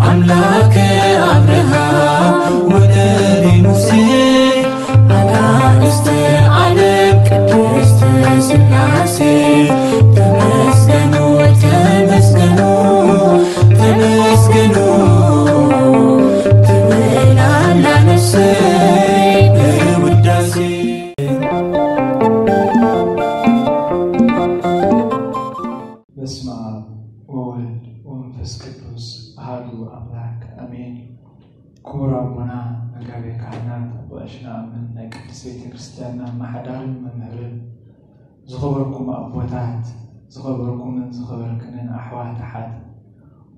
ኣምላክ ኣብርሃም ወልድ ሙሴ ኣናእስተ ዓለም ቅድስት ስላሴ ተመስገኑ ተመስገኑ ተመስገኑ ትብል ኣላ ነፍሰይ ብውዳሴ። በስመ አብ ወወልድ ወመንፈስ ቅዱስ አሐዱ አምላክ አሜን። ክቡር አቦና መጋቤ ካህናት፣ አቦ ቀሺ ነአምን፣ ናይ ቅድስት ቤተ ክርስቲያንና አመሓዳርን መምህርን፣ ዝኸበርኩም ኣቦታት፣ ዝኸበርኩምን ዝኸበርክንን ኣሕዋት ኣሓት፣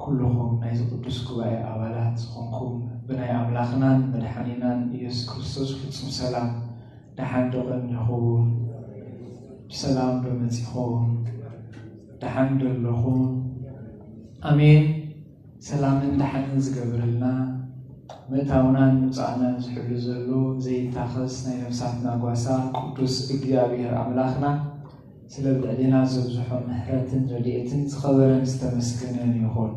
ኩልኹም ናይዚ ቅዱስ ጉባኤ ኣባላት ዝኾንኩም፣ ብናይ ኣምላኽናን መድሓኒናን ኢየሱስ ክርስቶስ ፍጹም ሰላም ደሓን ዶ ቀኒኹም? ብሰላም ዶ መጺኹም? ደሓን ዶ ኣለኹም? ኣሜን። ሰላምን ደሓንን ዝገብረልና፣ ምእታውናን ምውጻእናን ዝሕሉ ዘሎ ዘይታኸስ ናይ ነፍሳትና ጓሳ ቅዱስ እግዚኣብሔር ኣምላኽና፣ ስለ ኣብ ልዕሌና ዘብዝሖ ምሕረትን ረድኤትን ዝኸበረን ዝተመስገነን ይኹን።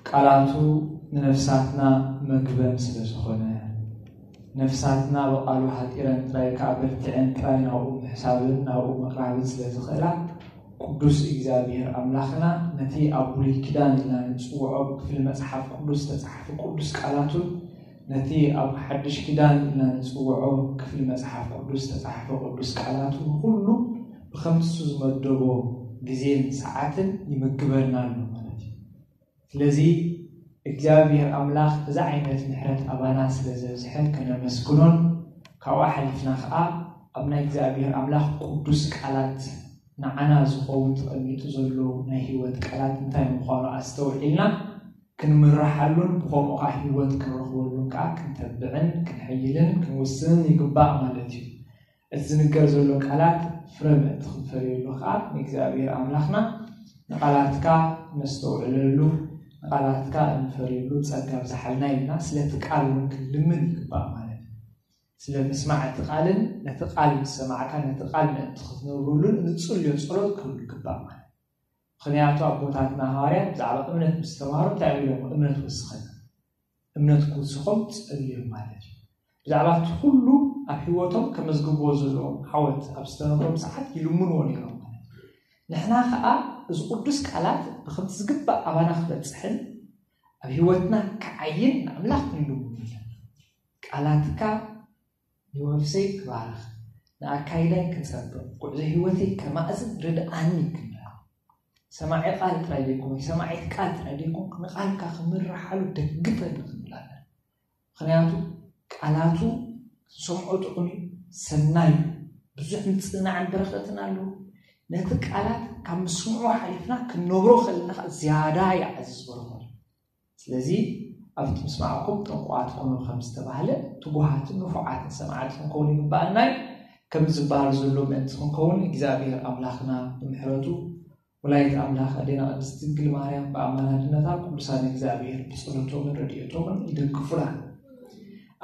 ቃላቱ ንነፍሳትና መግበን ስለ ዝኾነ፣ ነፍሳትና ብቓሉ ሃጢረን ጥራይ ከኣ በርቲዐን ጥራይ ናብኡ ምሕሳብን ናብኡ ምቕራብን ስለ ዝኽእላ፣ ቅዱስ እግዚኣብሔር ኣምላኽና ነቲ ኣብ ብሉይ ኪዳን ኢልና ንጽውዖ ክፍሊ መጽሓፍ ቅዱስ ዝተጻሕፈ ቅዱስ ቃላቱን ነቲ ኣብ ሓድሽ ኪዳን ኢልና ንጽውዖ ክፍሊ መጽሓፍ ቅዱስ ዝተጻሕፈ ቅዱስ ቃላቱ ንኹሉ ብኸምቲ እሱ ዝመደቦ ግዜን ሰዓትን ይምግበና ኣሎ ማለት እዩ። ስለዚ እግዚኣብሔር ኣምላኽ እዚ ዓይነት ምሕረት ኣባና ስለ ዘብዝሐ ከነመስግኖን ካብኡ ሓሊፍና ኸዓ ኣብ ናይ እግዚኣብሔር ኣምላኽ ቅዱስ ቃላት ንዓና ዝኸውን ተቐሚጡ ዘሎ ናይ ህይወት ቃላት እንታይ ምዃኑ ኣስተውዒልና ክንምርሓሉን ብኸምኡ ኸዓ ህይወት ክንረኽበሉን ከዓ ክንተብዕን ክንሕይልን ክንውስንን ይግባእ ማለት እዩ። እቲ ዝንገር ዘሎ ቃላት ፍረ ምእንቲ ክንፈርየሉ ከዓ ንእግዚኣብሔር ኣምላኽና ንቓላትካ ነስተውዕለሉ ንቓላትካ እንፈርየሉ ጸጋ ብዝሓልና ኢልና ስለቲ ቃል እውን ክንልምን ይግባእ ማለት እዩ። ስለ ምስማዕ እቲ ቃልን ነቲ ቃል ምስ ሰማዕካ ነቲ ቃል ምእንቲ ክትነብሩሉን እንጽልዮ ጸሎት ክህሉ ይግባእ ማለት እዩ። ምኽንያቱ ኣቦታትና ሃዋርያት ብዛዕባ እምነት ምስ ተማሃሩ እንታይ ኢሎም እምነት ወስኸና እምነት ክውስኾም ጸልዮም ማለት እዩ። ብዛዕባ እቲ ኩሉ ኣብ ህይወቶም ከመዝግብዎ ዘለዎም ዓወት ኣብ ዝተነግሮም ሰዓት ይልምንዎ ነይሮም ማለት እዩ። ንሕና ኸዓ እዚ ቅዱስ ቃላት ብኸምቲ ዝግባእ ኣባና ክበጽሕን ኣብ ህይወትና ክዓይን ንኣምላኽ ክንልምኑ ኣለና። ቃላትካ ንወፍሰይ ክባርኽ ንኣካይዳይ ክጸብቕ ጉዕዞ ህይወተይ ከማእዝን ርድኣኒ ክምራ ሰማዒ ቃል ጥራይ ዘይኮንኩ ሰማዒት ቃል ጥራይ ዘይኮንኩ ንቃልካ ክምርሓሉ ደግፈኒ ክንብል ኣለና። ምኽንያቱ ቃላቱ ሰምዖ ጥዑም እዩ፣ ሰናይ እዩ፣ ብዙሕ ምጽንናዕን በረኸትን ኣለዎ። ነቲ ቃላት ካብ ምስምዑ ሓሊፍና ክንነብሮ ከለና ከዓ ዝያዳ ይዓዝዝ በረኸቱ። ስለዚ ኣብቲ ምስማዕኩም ጥንቁቓት ኩኑ ከም ዝተባህለ ትጉሃትን ንፉዓትን ሰማዕቲ ክንከውን ይግባኣና እዩ። ከም ዝበሃል ዘሎ ምእንቲ ክንከውን እግዚኣብሔር ኣምላኽና ብምሕረቱ ወላዲት ኣምላኽ ኣዴና ቅድስት ድንግል ማርያም ብኣማላድነታ ቅዱሳን እግዚኣብሔር ብጸሎቶምን ረድኤቶምን ይደግፉና።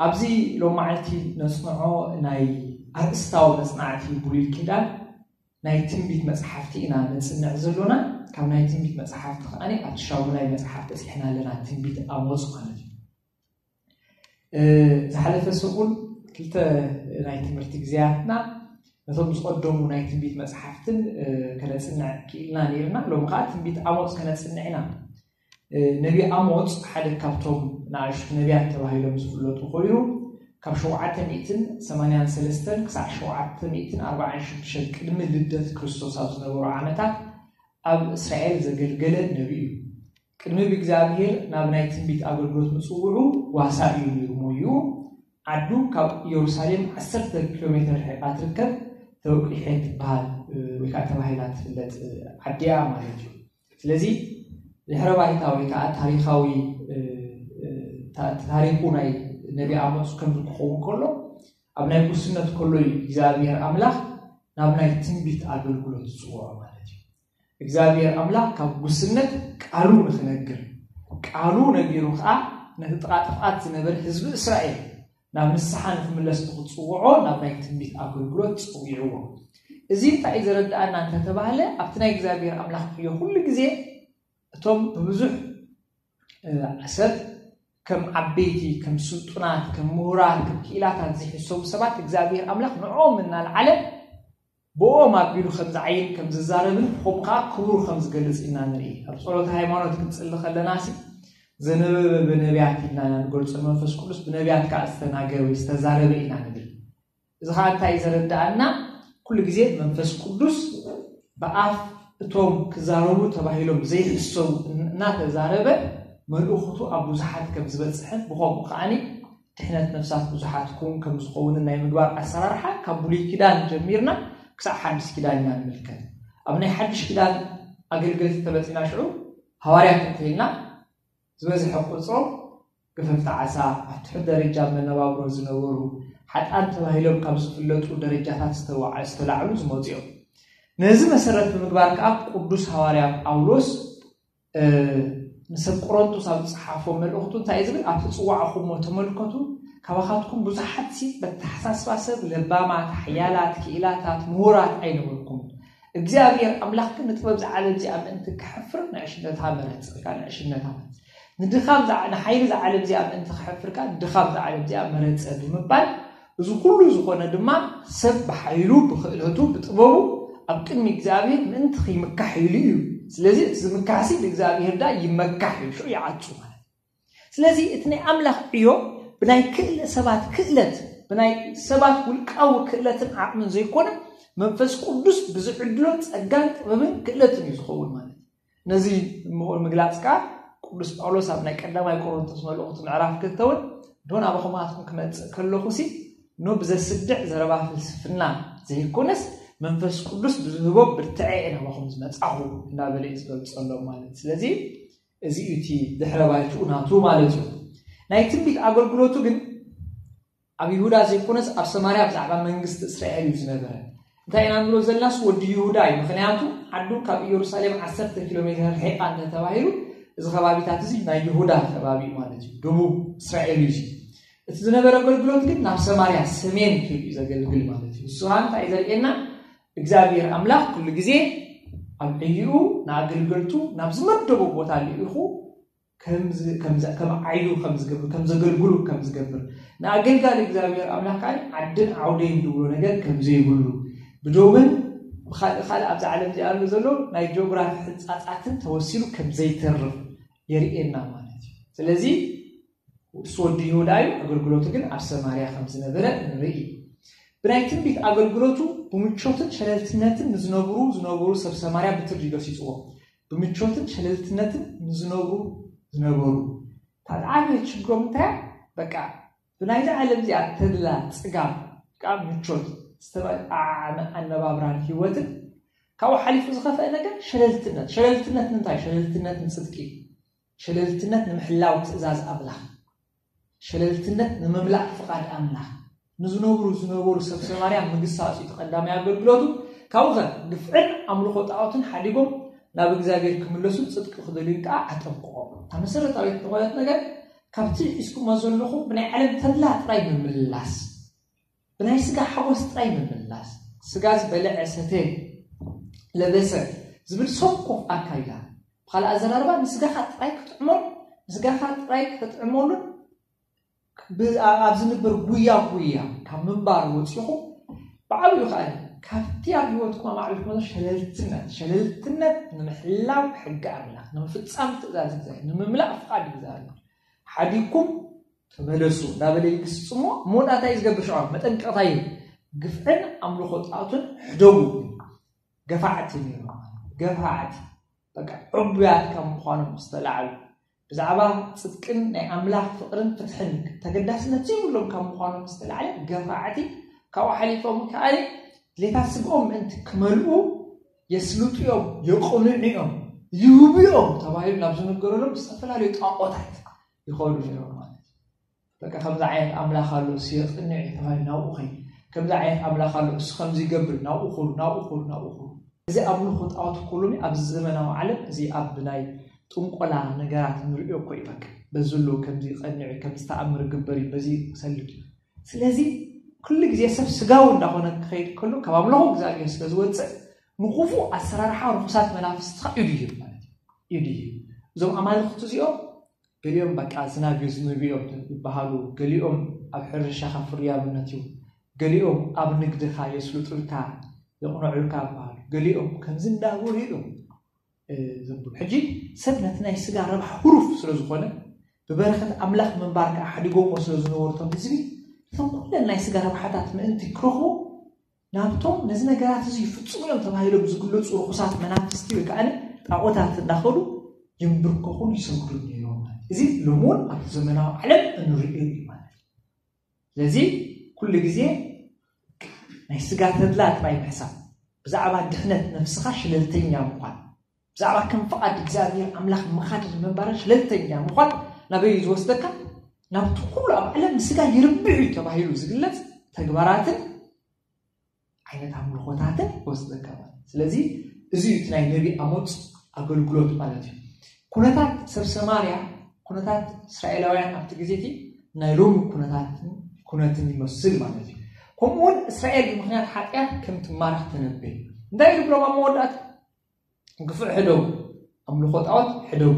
ኣብዚ ሎማዓልቲ ነጽንዖ ናይ ኣርእስታዊ መጽናዕቲ ብሉይ ኪዳን ናይ ትንቢት መጽሓፍቲ ኢና ነጽንዕ ዘሎና። ካብ ናይ ትንቢት መጽሓፍቲ ከኣ ኣብቲ ሻሙናይ መጽሓፍ በጺሕና ኣለና፣ ትንቢት ኣሞጽ ማለት እዩ። ዝሓለፈ ሰሙን ክልተ ናይ ትምህርቲ ግዜያትና ነቶም ዝቐደሙ ናይ ትንቢት መጽሓፍትን ከነጽንዕ ክኢልና ነይርና። ሎም ከዓ ትንቢት ኣሞጽ ከነጽንዕ ኢና። ነቢ ኣሞጽ ሓደ ካብቶም ንኣሽቱ ነቢያት ተባሂሎም ዝፍለጡ ኮይኑ ካብ ሸውዓተ ሚእትን ሰማንያን ሰለስተን ክሳዕ ሸውዓተ ሚእትን ኣርባዓን ሽዱሽተን ቅድሚ ልደት ክርስቶስ ኣብ ዝነበሩ ዓመታት ኣብ እስራኤል ዘገልገለ ነቢ እዩ። ቅድሚ ብእግዚኣብሔር ናብ ናይ ትንቢት ኣገልግሎት ምጽውዑ ጓሳ እዩ ነይሩ ሞይኡ። ዓዱ ካብ ኢየሩሳሌም ዓሰርተ ኪሎ ሜትር ርሒቓ ትርከብ ተወቂሐ ትበሃል ወይ ከዓ ተባሂላ ትፍለጥ ዓዲ እያ ማለት እዩ። ስለዚ ድሕረ ባይታ ወይ ከዓ ታሪኻዊ ታሪኩ ናይ ነቢ ኣሞጽ ከምዚ ክኸውን ከሎ ኣብ ናይ ጉስነት ከሎ እዩ እግዚኣብሔር ኣምላኽ ናብ ናይ ትንቢት ኣገልግሎት ዝፅውዖ ማለት እዩ። እግዚኣብሔር ኣምላኽ ካብ ጉስነት ቃሉ ንክነግር ቃሉ ነጊሩ ከዓ ነቲ ጥቓ ጥፍኣት ዝነበረ ህዝቢ እስራኤል ናብ ንስሓ ንክምለስ ንክፅውዖ ናብ ናይ ትንቢት ኣገልግሎት ፀዊዕዎ። እዚ እንታይ እዩ ዘረድኣና እንተተባህለ ኣብቲ ናይ እግዚኣብሔር ኣምላኽ ዕዮ ኩሉ ግዜ እቶም ብብዙሕ ሰብ ከም ዓበይቲ፣ ከም ስልጡናት፣ ከም ምሁራት፣ ከም ክኢላታት ዝሕሰቡ ሰባት እግዚኣብሔር ኣምላኽ ንዕኦም እናልዓለ ብኦም ኣቢሉ ከም ዝዓይን ከም ዝዛረብን ብኸምኡ ከዓ ክብሩ ከም ዝገልጽ ኢና ንርኢ። ኣብ ጸሎተ ሃይማኖት ክንጽሊ ከለና ሲ ዘነበበ ብነቢያት ኢልና ኢና ንገልጾ። መንፈስ ቅዱስ ብነቢያት ከዓ ዝተናገረ ወይ ዝተዛረበ ኢና ንብል። እዚ ከዓ እንታይ እዩ ዘረዳኣና? ኩሉ ግዜ መንፈስ ቅዱስ ብኣፍ እቶም ክዛረቡ ተባሂሎም ዘይሕሰቡ እናተዛረበ መልእኽቱ ኣብ ብዙሓት ከም ዝበፅሕን ብኸምኡ ከዓኒ ድሕነት ነፍሳት ብዙሓት ክውን ከም ዝኸውንን ናይ ምግባር ኣሰራርሓ ካብ ብሉይ ኪዳን ጀሚርና ክሳብ ሓድሽ ኪዳን ኢና ንምልከት። ኣብ ናይ ሓድሽ ኪዳን ኣገልገልቲ ተመፂና ሽዑ ሃዋርያት እንተኢልና ዝበዝሐ ቁፅሮም ገፈፍቲ ዓሳ ኣብ ትሑት ደረጃ መነባብሮ ዝነበሩ ሓጣን ተባሂሎም ካብ ዝፍለጡ ደረጃታት ዝተወዓ ዝተላዕሉ ዝመፁ እዮም። ነዚ መሰረት ብምግባር ከዓ ቅዱስ ሃዋርያ ጳውሎስ ንሰብ ቆሮንቶስ ኣብ ዝፀሓፎ መልእኽቱ እንታይ እዩ ዝብል? ኣብ ትፅዋዕኹሞ ተመልከቱ፣ ካባኻትኩም ብዙሓት ሲ በተሓሳስባ ሰብ ለባማት፣ ሓያላት፣ ክኢላታት፣ ምሁራት ኣይነበርኩም። እግዚኣብሔር ኣምላኽ ግን ንጥበብ ዝዓለም እዚኣ ምእንቲ ክሕፍር ንዕሽነታ መረጸ። ንዕሽነታ ንድኻም ንሓይሊ ዝዓለም እዚኣ ምእንቲ ክሕፍር ንድኻም ዝዓለም እዚኣ መረጸ ብምባል እዚ ኩሉ ዝኾነ ድማ ሰብ ብሓይሉ ብክእለቱ ብጥበቡ ኣብ ቅድሚ እግዚኣብሔር ምእንቲ ክይምካሕ ኢሉ እዩ። ስለዚ እቲ ዝምካሕሲ ብእግዚኣብሔር ዳ ይመካሕ እዩ፣ ሽዑ ይዓጹ ማለት። ስለዚ እቲ ናይ ኣምላኽ ዕዮ ብናይ ክእለ ሰባት ክእለት ብናይ ሰባት ውልቃዊ ክእለትን ዓቕምን ዘይኮነ መንፈስ ቅዱስ ብዝዕድሎ ጸጋን ጥበብን ክእለትን እዩ ዝኸውን ማለት። ነዚ ምቑር ምግላጽ ከኣ ቅዱስ ጳውሎስ ኣብ ናይ ቀዳማይ ቆሮንቶስ መልእኽቱ ምዕራፍ ክልተ እውን ዶ ናባኹም ኣትኩም ክመጽእ ከለኹ ሲ ኖ ብዘስድዕ ዘረባ ፍልስፍና ዘይኮነስ መንፈስ ቅዱስ ብዝህቦ ብርትዐ እየ ናባኹም ዝመጻኹ እናበለ እዩ ዝገልጸሎም ማለት። ስለዚ እዚ እዩ እቲ ድሕረ ባይትኡ ናቱ ማለት እዩ። ናይ ትንቢት ኣገልግሎቱ ግን ኣብ ይሁዳ ዘይኮነስ ኣብ ሰማርያ ብዛዕባ መንግስቲ እስራኤል እዩ ዝነበረ። እንታይ ኢና ንብሎ ዘለናስ ወዲ ይሁዳ እዩ። ምክንያቱ ዓዱ ካብ ኢየሩሳሌም ዓሰርተ ኪሎ ሜትር ርሒቓ እንተተባሂሉ እዚ ከባቢታት እዚ ናይ ይሁዳ ከባቢ እዩ ማለት እዩ። ደቡብ እስራኤል እዩ። እቲ ዝነበረ ኣገልግሎት ግን ናብ ሰማርያ ሰሜን ከይዱ እዩ ዘገልግል ማለት እዩ። ንሱ ከዓ እንታይ እዩ ዘርእየና? እግዚኣብሔር ኣምላኽ ኩሉ ግዜ ኣብ ዕይኡ ንኣገልገልቱ ናብ ዝመደቦ ቦታ ልኢኹ ከም ዓዩ ከም ዘገልግሉ ከም ዝገብር ንኣገልጋሊ እግዚኣብሔር ኣምላኽ ከዓ ዓድን ዓውደይን ዝብሎ ነገር ከም ዘይብሉ ብዶብን ብካልእ ካልእ ኣብዚ ዓለም እዚኣ ዘሎ ናይ ጂኦግራፊ ሕንፃፃትን ተወሲኑ ከም ዘይተርፍ የርእየና ማለት እዩ። ስለዚ እሱ ወዲ ይሁዳ እዩ፣ ኣገልግሎቱ ግን ኣብ ሰማርያ ከም ዝነበረ ንርኢ። ብናይ ትንቢት ኣገልግሎቱ ብምቾትን ሸለልትነትን ንዝነብሩ ዝነበሩ ሰብ ሰማርያ ብትር እዩ ገሲፅዎ። ብምቾትን ሸለልትነትን ንዝነብሩ ዝነበሩ ታዓበየ ችግሮም እንታይ በቃ ብናይዚ ዓለም እዚኣ ተድላ ፅጋብ ካብ ምቾት ዝተበዓመ ኣነባብራን ህይወትን ካብኡ ሓሊፉ ዝኸፍአ ነገር ሸለልትነት። ሸለልትነት ንምንታይ? ሸለልትነት ንፅድቂ፣ ሸለልትነት ንምሕላው ትእዛዝ ኣምላኽ፣ ሸለልትነት ንምምላእ ፍቓድ ኣምላኽ ንዝነብሩ ዝነበሩ ሰብ ሰማርያ ምግሳፅ እዩ ተቐዳማይ ኣገልግሎቱ። ካብኡ ኸ ግፍዕን ኣምልኾ ጣዖትን ሓዲጎም ናብ እግዚኣብሔር ክምለሱ ፅድቂ ክደልዩ ከዓ ኣጠንቅቖም። እታ መሰረታዊት ዝኾነት ነገር ካብቲ ሒዝኩሞ ዘለኹም ብናይ ዓለም ተድላ ጥራይ ምምላስ፣ ብናይ ስጋ ሓጎስ ጥራይ ምምላስ፣ ስጋ ዝበልዐ ሰተ ለበሰ ዝብል ሰኮፍ ኣካይዳ፣ ብኻልእ ኣዘራርባ ንስጋኻ ጥራይ ክጥዕሞን ንስጋኻ ጥራይ ከተጥዕመሉን ኣብ ዝንበር ጉያ ጉያ ካብ ምንባር ወፂኹም ብዓብዩ ከዓ ካብቲ ኣብ ህይወትኩም ኣማዕቢልኩም ዘሎ ሸለልትነት ሸለልትነት ንምሕላው ሕጊ ኣምላኽ ንምፍፃም ትእዛዝ እግዚኣብሔር ንምምላእ ፍቓድ እግዚኣብሔር ሓዲግኩም ተመለሱ እንዳበለ ይግስፅ እሞ መወዳእታ እዩ ዝገብር ሽዖ መጠንቀቕታ እዩ። ግፍዕን ኣምልኾ ጣዖትን ሕደጉ ገፋዕቲ ነይሮም። ገፋዕቲ በቃ ዕቡያት ካብ ምዃኖም ዝተላዕሉ ብዛዕባ ፅድቅን ናይ ኣምላኽ ፍቕርን ፍትሕን ተገዳስነት ዘይብሎም ካብ ምዃኖም ዝተላዕለ ገፋዕቲ ካብኡ ሓሊፎም ከኣኒ ድሌታት ስግኦም ምእንቲ ክመልኡ የስልጡ እዮም፣ የቕንዑ እዮም፣ ይህቡ እዮም ተባሂሉ ናብ ዝነገረሎም ዝተፈላለዩ ጣዖታት ይኸዱ ነይሮም ማለት እዩ። በቃ ከምዚ ዓይነት ኣምላኽ ኣሎ እሱ የቕንዕ እዩ ተባሂሉ ናብኡ ኸይዱ። ከምዚ ዓይነት ኣምላኽ ኣሎ እሱ ከምዚ ይገብር ናብኡ ኹዱ ናብኡ ኹዱ ናብኡ ኹዱ። እዚ ኣምልኾ ጣዖት ኩሉኒ ኣብዚ ዘመናዊ ዓለም እዚ ኣብ ናይ ጥንቆላ ነገራት ንሪኦ እኮ እዩ። በቃ በዚ ኣሎ ከምዚ ይቐንዕ እዩ ከምዚ ተኣምር ይግበር እዩ በዚ ይሰልጥ እዩ። ስለዚ ኩሉ ግዜ ሰብ ስጋዊ እንዳኾነ ክኸይድ ከሎ ካብ ኣምልኾ እግዚኣብሔር ስለ ዝወፅእ ንክፉእ ኣሰራርሓ ርኹሳት መናፍስቲ ከዓ ኢዱ ይህብ ማለት እዩ። ኢዱ ይህብ። እዞም ኣማልኽቲ እዚኦም ገሊኦም በቃ ዝናብ እዩ ዝንብዮም ይበሃሉ፣ ገሊኦም ኣብ ሕርሻኻ ፍርያምነት እዩ፣ ገሊኦም ኣብ ንግድኻ የስልጡልካ የቕንዑልካ ይበሃሉ፣ ገሊኦም ከምዚ እንዳበሉ እዮም ዘንብብ። ሕጂ ሰብ ነቲ ናይ ስጋ ረብሓ ህሩፍ ስለ ዝኾነ ብበረኸት ኣምላኽ ምንባር ከዓ ሓዲጎሞ ስለ ዝነበሩ እቶም ህዝቢ እቶም ኩለን ናይ ስጋ ረብሓታት ምእንቲ ክረኽቡ ናብቶም ነዚ ነገራት እዚ ይፍጽሙ እዮም ተባሂሎም ዝግለጹ ርኹሳት መናፍስቲ ወይ ከዓ ጣዖታት እንዳኸዱ ይንብርከኹን ይሰግዱን ነይሮም ማለት እዩ። እዚ ሎሚ እውን ኣብቲ ዘመናዊ ዓለም እንሪኦ እዩ ማለት እዩ። ስለዚ ኩሉ ግዜ ናይ ስጋ ተድላ ጥራይ ምሕሳብ፣ ብዛዕባ ድሕነት ነፍስኻ ሽለልተኛ ምዃን፣ ብዛዕባ ከም ፍቓድ እግዚኣብሔር ኣምላኽ ምኻድን ምንባርን ሽለልተኛ ምዃን ናበይ እዩ ዝወስደካ? ናብቲ ኩሉ ኣብ ዓለም ንስጋ ይርብሕ እዩ ተባሂሉ ዝግለጽ ተግባራትን ዓይነት ኣምልኾታትን ይወስደካ ማለት እዩ። ስለዚ እዚ እዩ እቲ ናይ ነቢ ኣሞጽ ኣገልግሎት ማለት እዩ። ኩነታት ሰብ ሰማርያ፣ ኩነታት እስራኤላውያን ኣብቲ ግዜ እቲ ናይ ሎሚ ኩነታትን ኩነትን ይመስል ማለት እዩ። ከምኡ እውን እስራኤል ብምኽንያት ሓጢኣት ከም ትማረኽ ተነበየ። እንታይ ኢሉ ብሎም ኣብ መወዳእታ? ግፍዕ ሕደጉ፣ ኣምልኾ ጣዖት ሕደጉ፣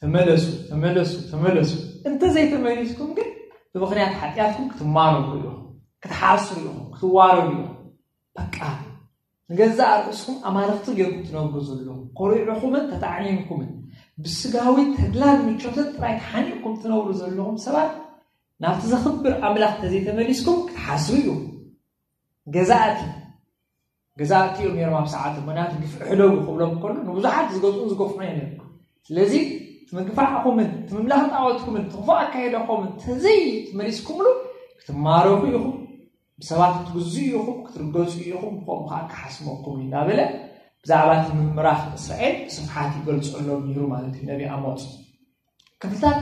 ተመለሱ፣ ተመለሱ፣ ተመለሱ። እንተዘይተመሊስኩም ግን ብምኽንያት ሓጢኣትኩም ክትማረኹ ኢኹም፣ ክትሓስሩ ኢኹም፣ ክትዋረዱ ኢኹም። በቃ ንገዛእ ርእስኹም ኣማልኽቲ ጌርኩም ትነብሩ ዘለኹም፣ ኮሪዕኹምን ተጣዕኒንኩምን ብስጋዊ ተድላን ምቾትን ጥራይ ተሓኒቕኩም ትነብሩ ዘለኹም ሰባት ናብቲ ዘኽብር ኣምላኽ እንተዘይተመሊስኩም ክትሓስሩ ኢኹም። ገዛእቲ ገዛእቲ እዮም ነይሮም ኣብ ሰዓቱ። ምኽንያቱ ግፍዕ ሕደጉ ክብሎም ከሎ ንብዙሓት ዝገዝኡን ዝገፍዑን እዮም ነይሮም። ስለዚ እቲ ምግፋዕኹምን እቲ ምምላኽ ጣዖትኩምን እቲ ክፉእ ኣካይዳኹምን እንተዘይተመሊስኩምሉ ክትማረኹ ኢኹም፣ ብሰባት ክትግዝኡ ኢኹም፣ ክትርገጹ ኢኹም፣ ብኸምኡ ከዓ ክሓስመኩም እዩ እንዳበለ ብዛዕባ እቲ ምምራኽ እስራኤል ብስፍሓት ይገልጸሎም ነይሩ ማለት እዩ ነቢ ኣሞጽ። ክፍልታት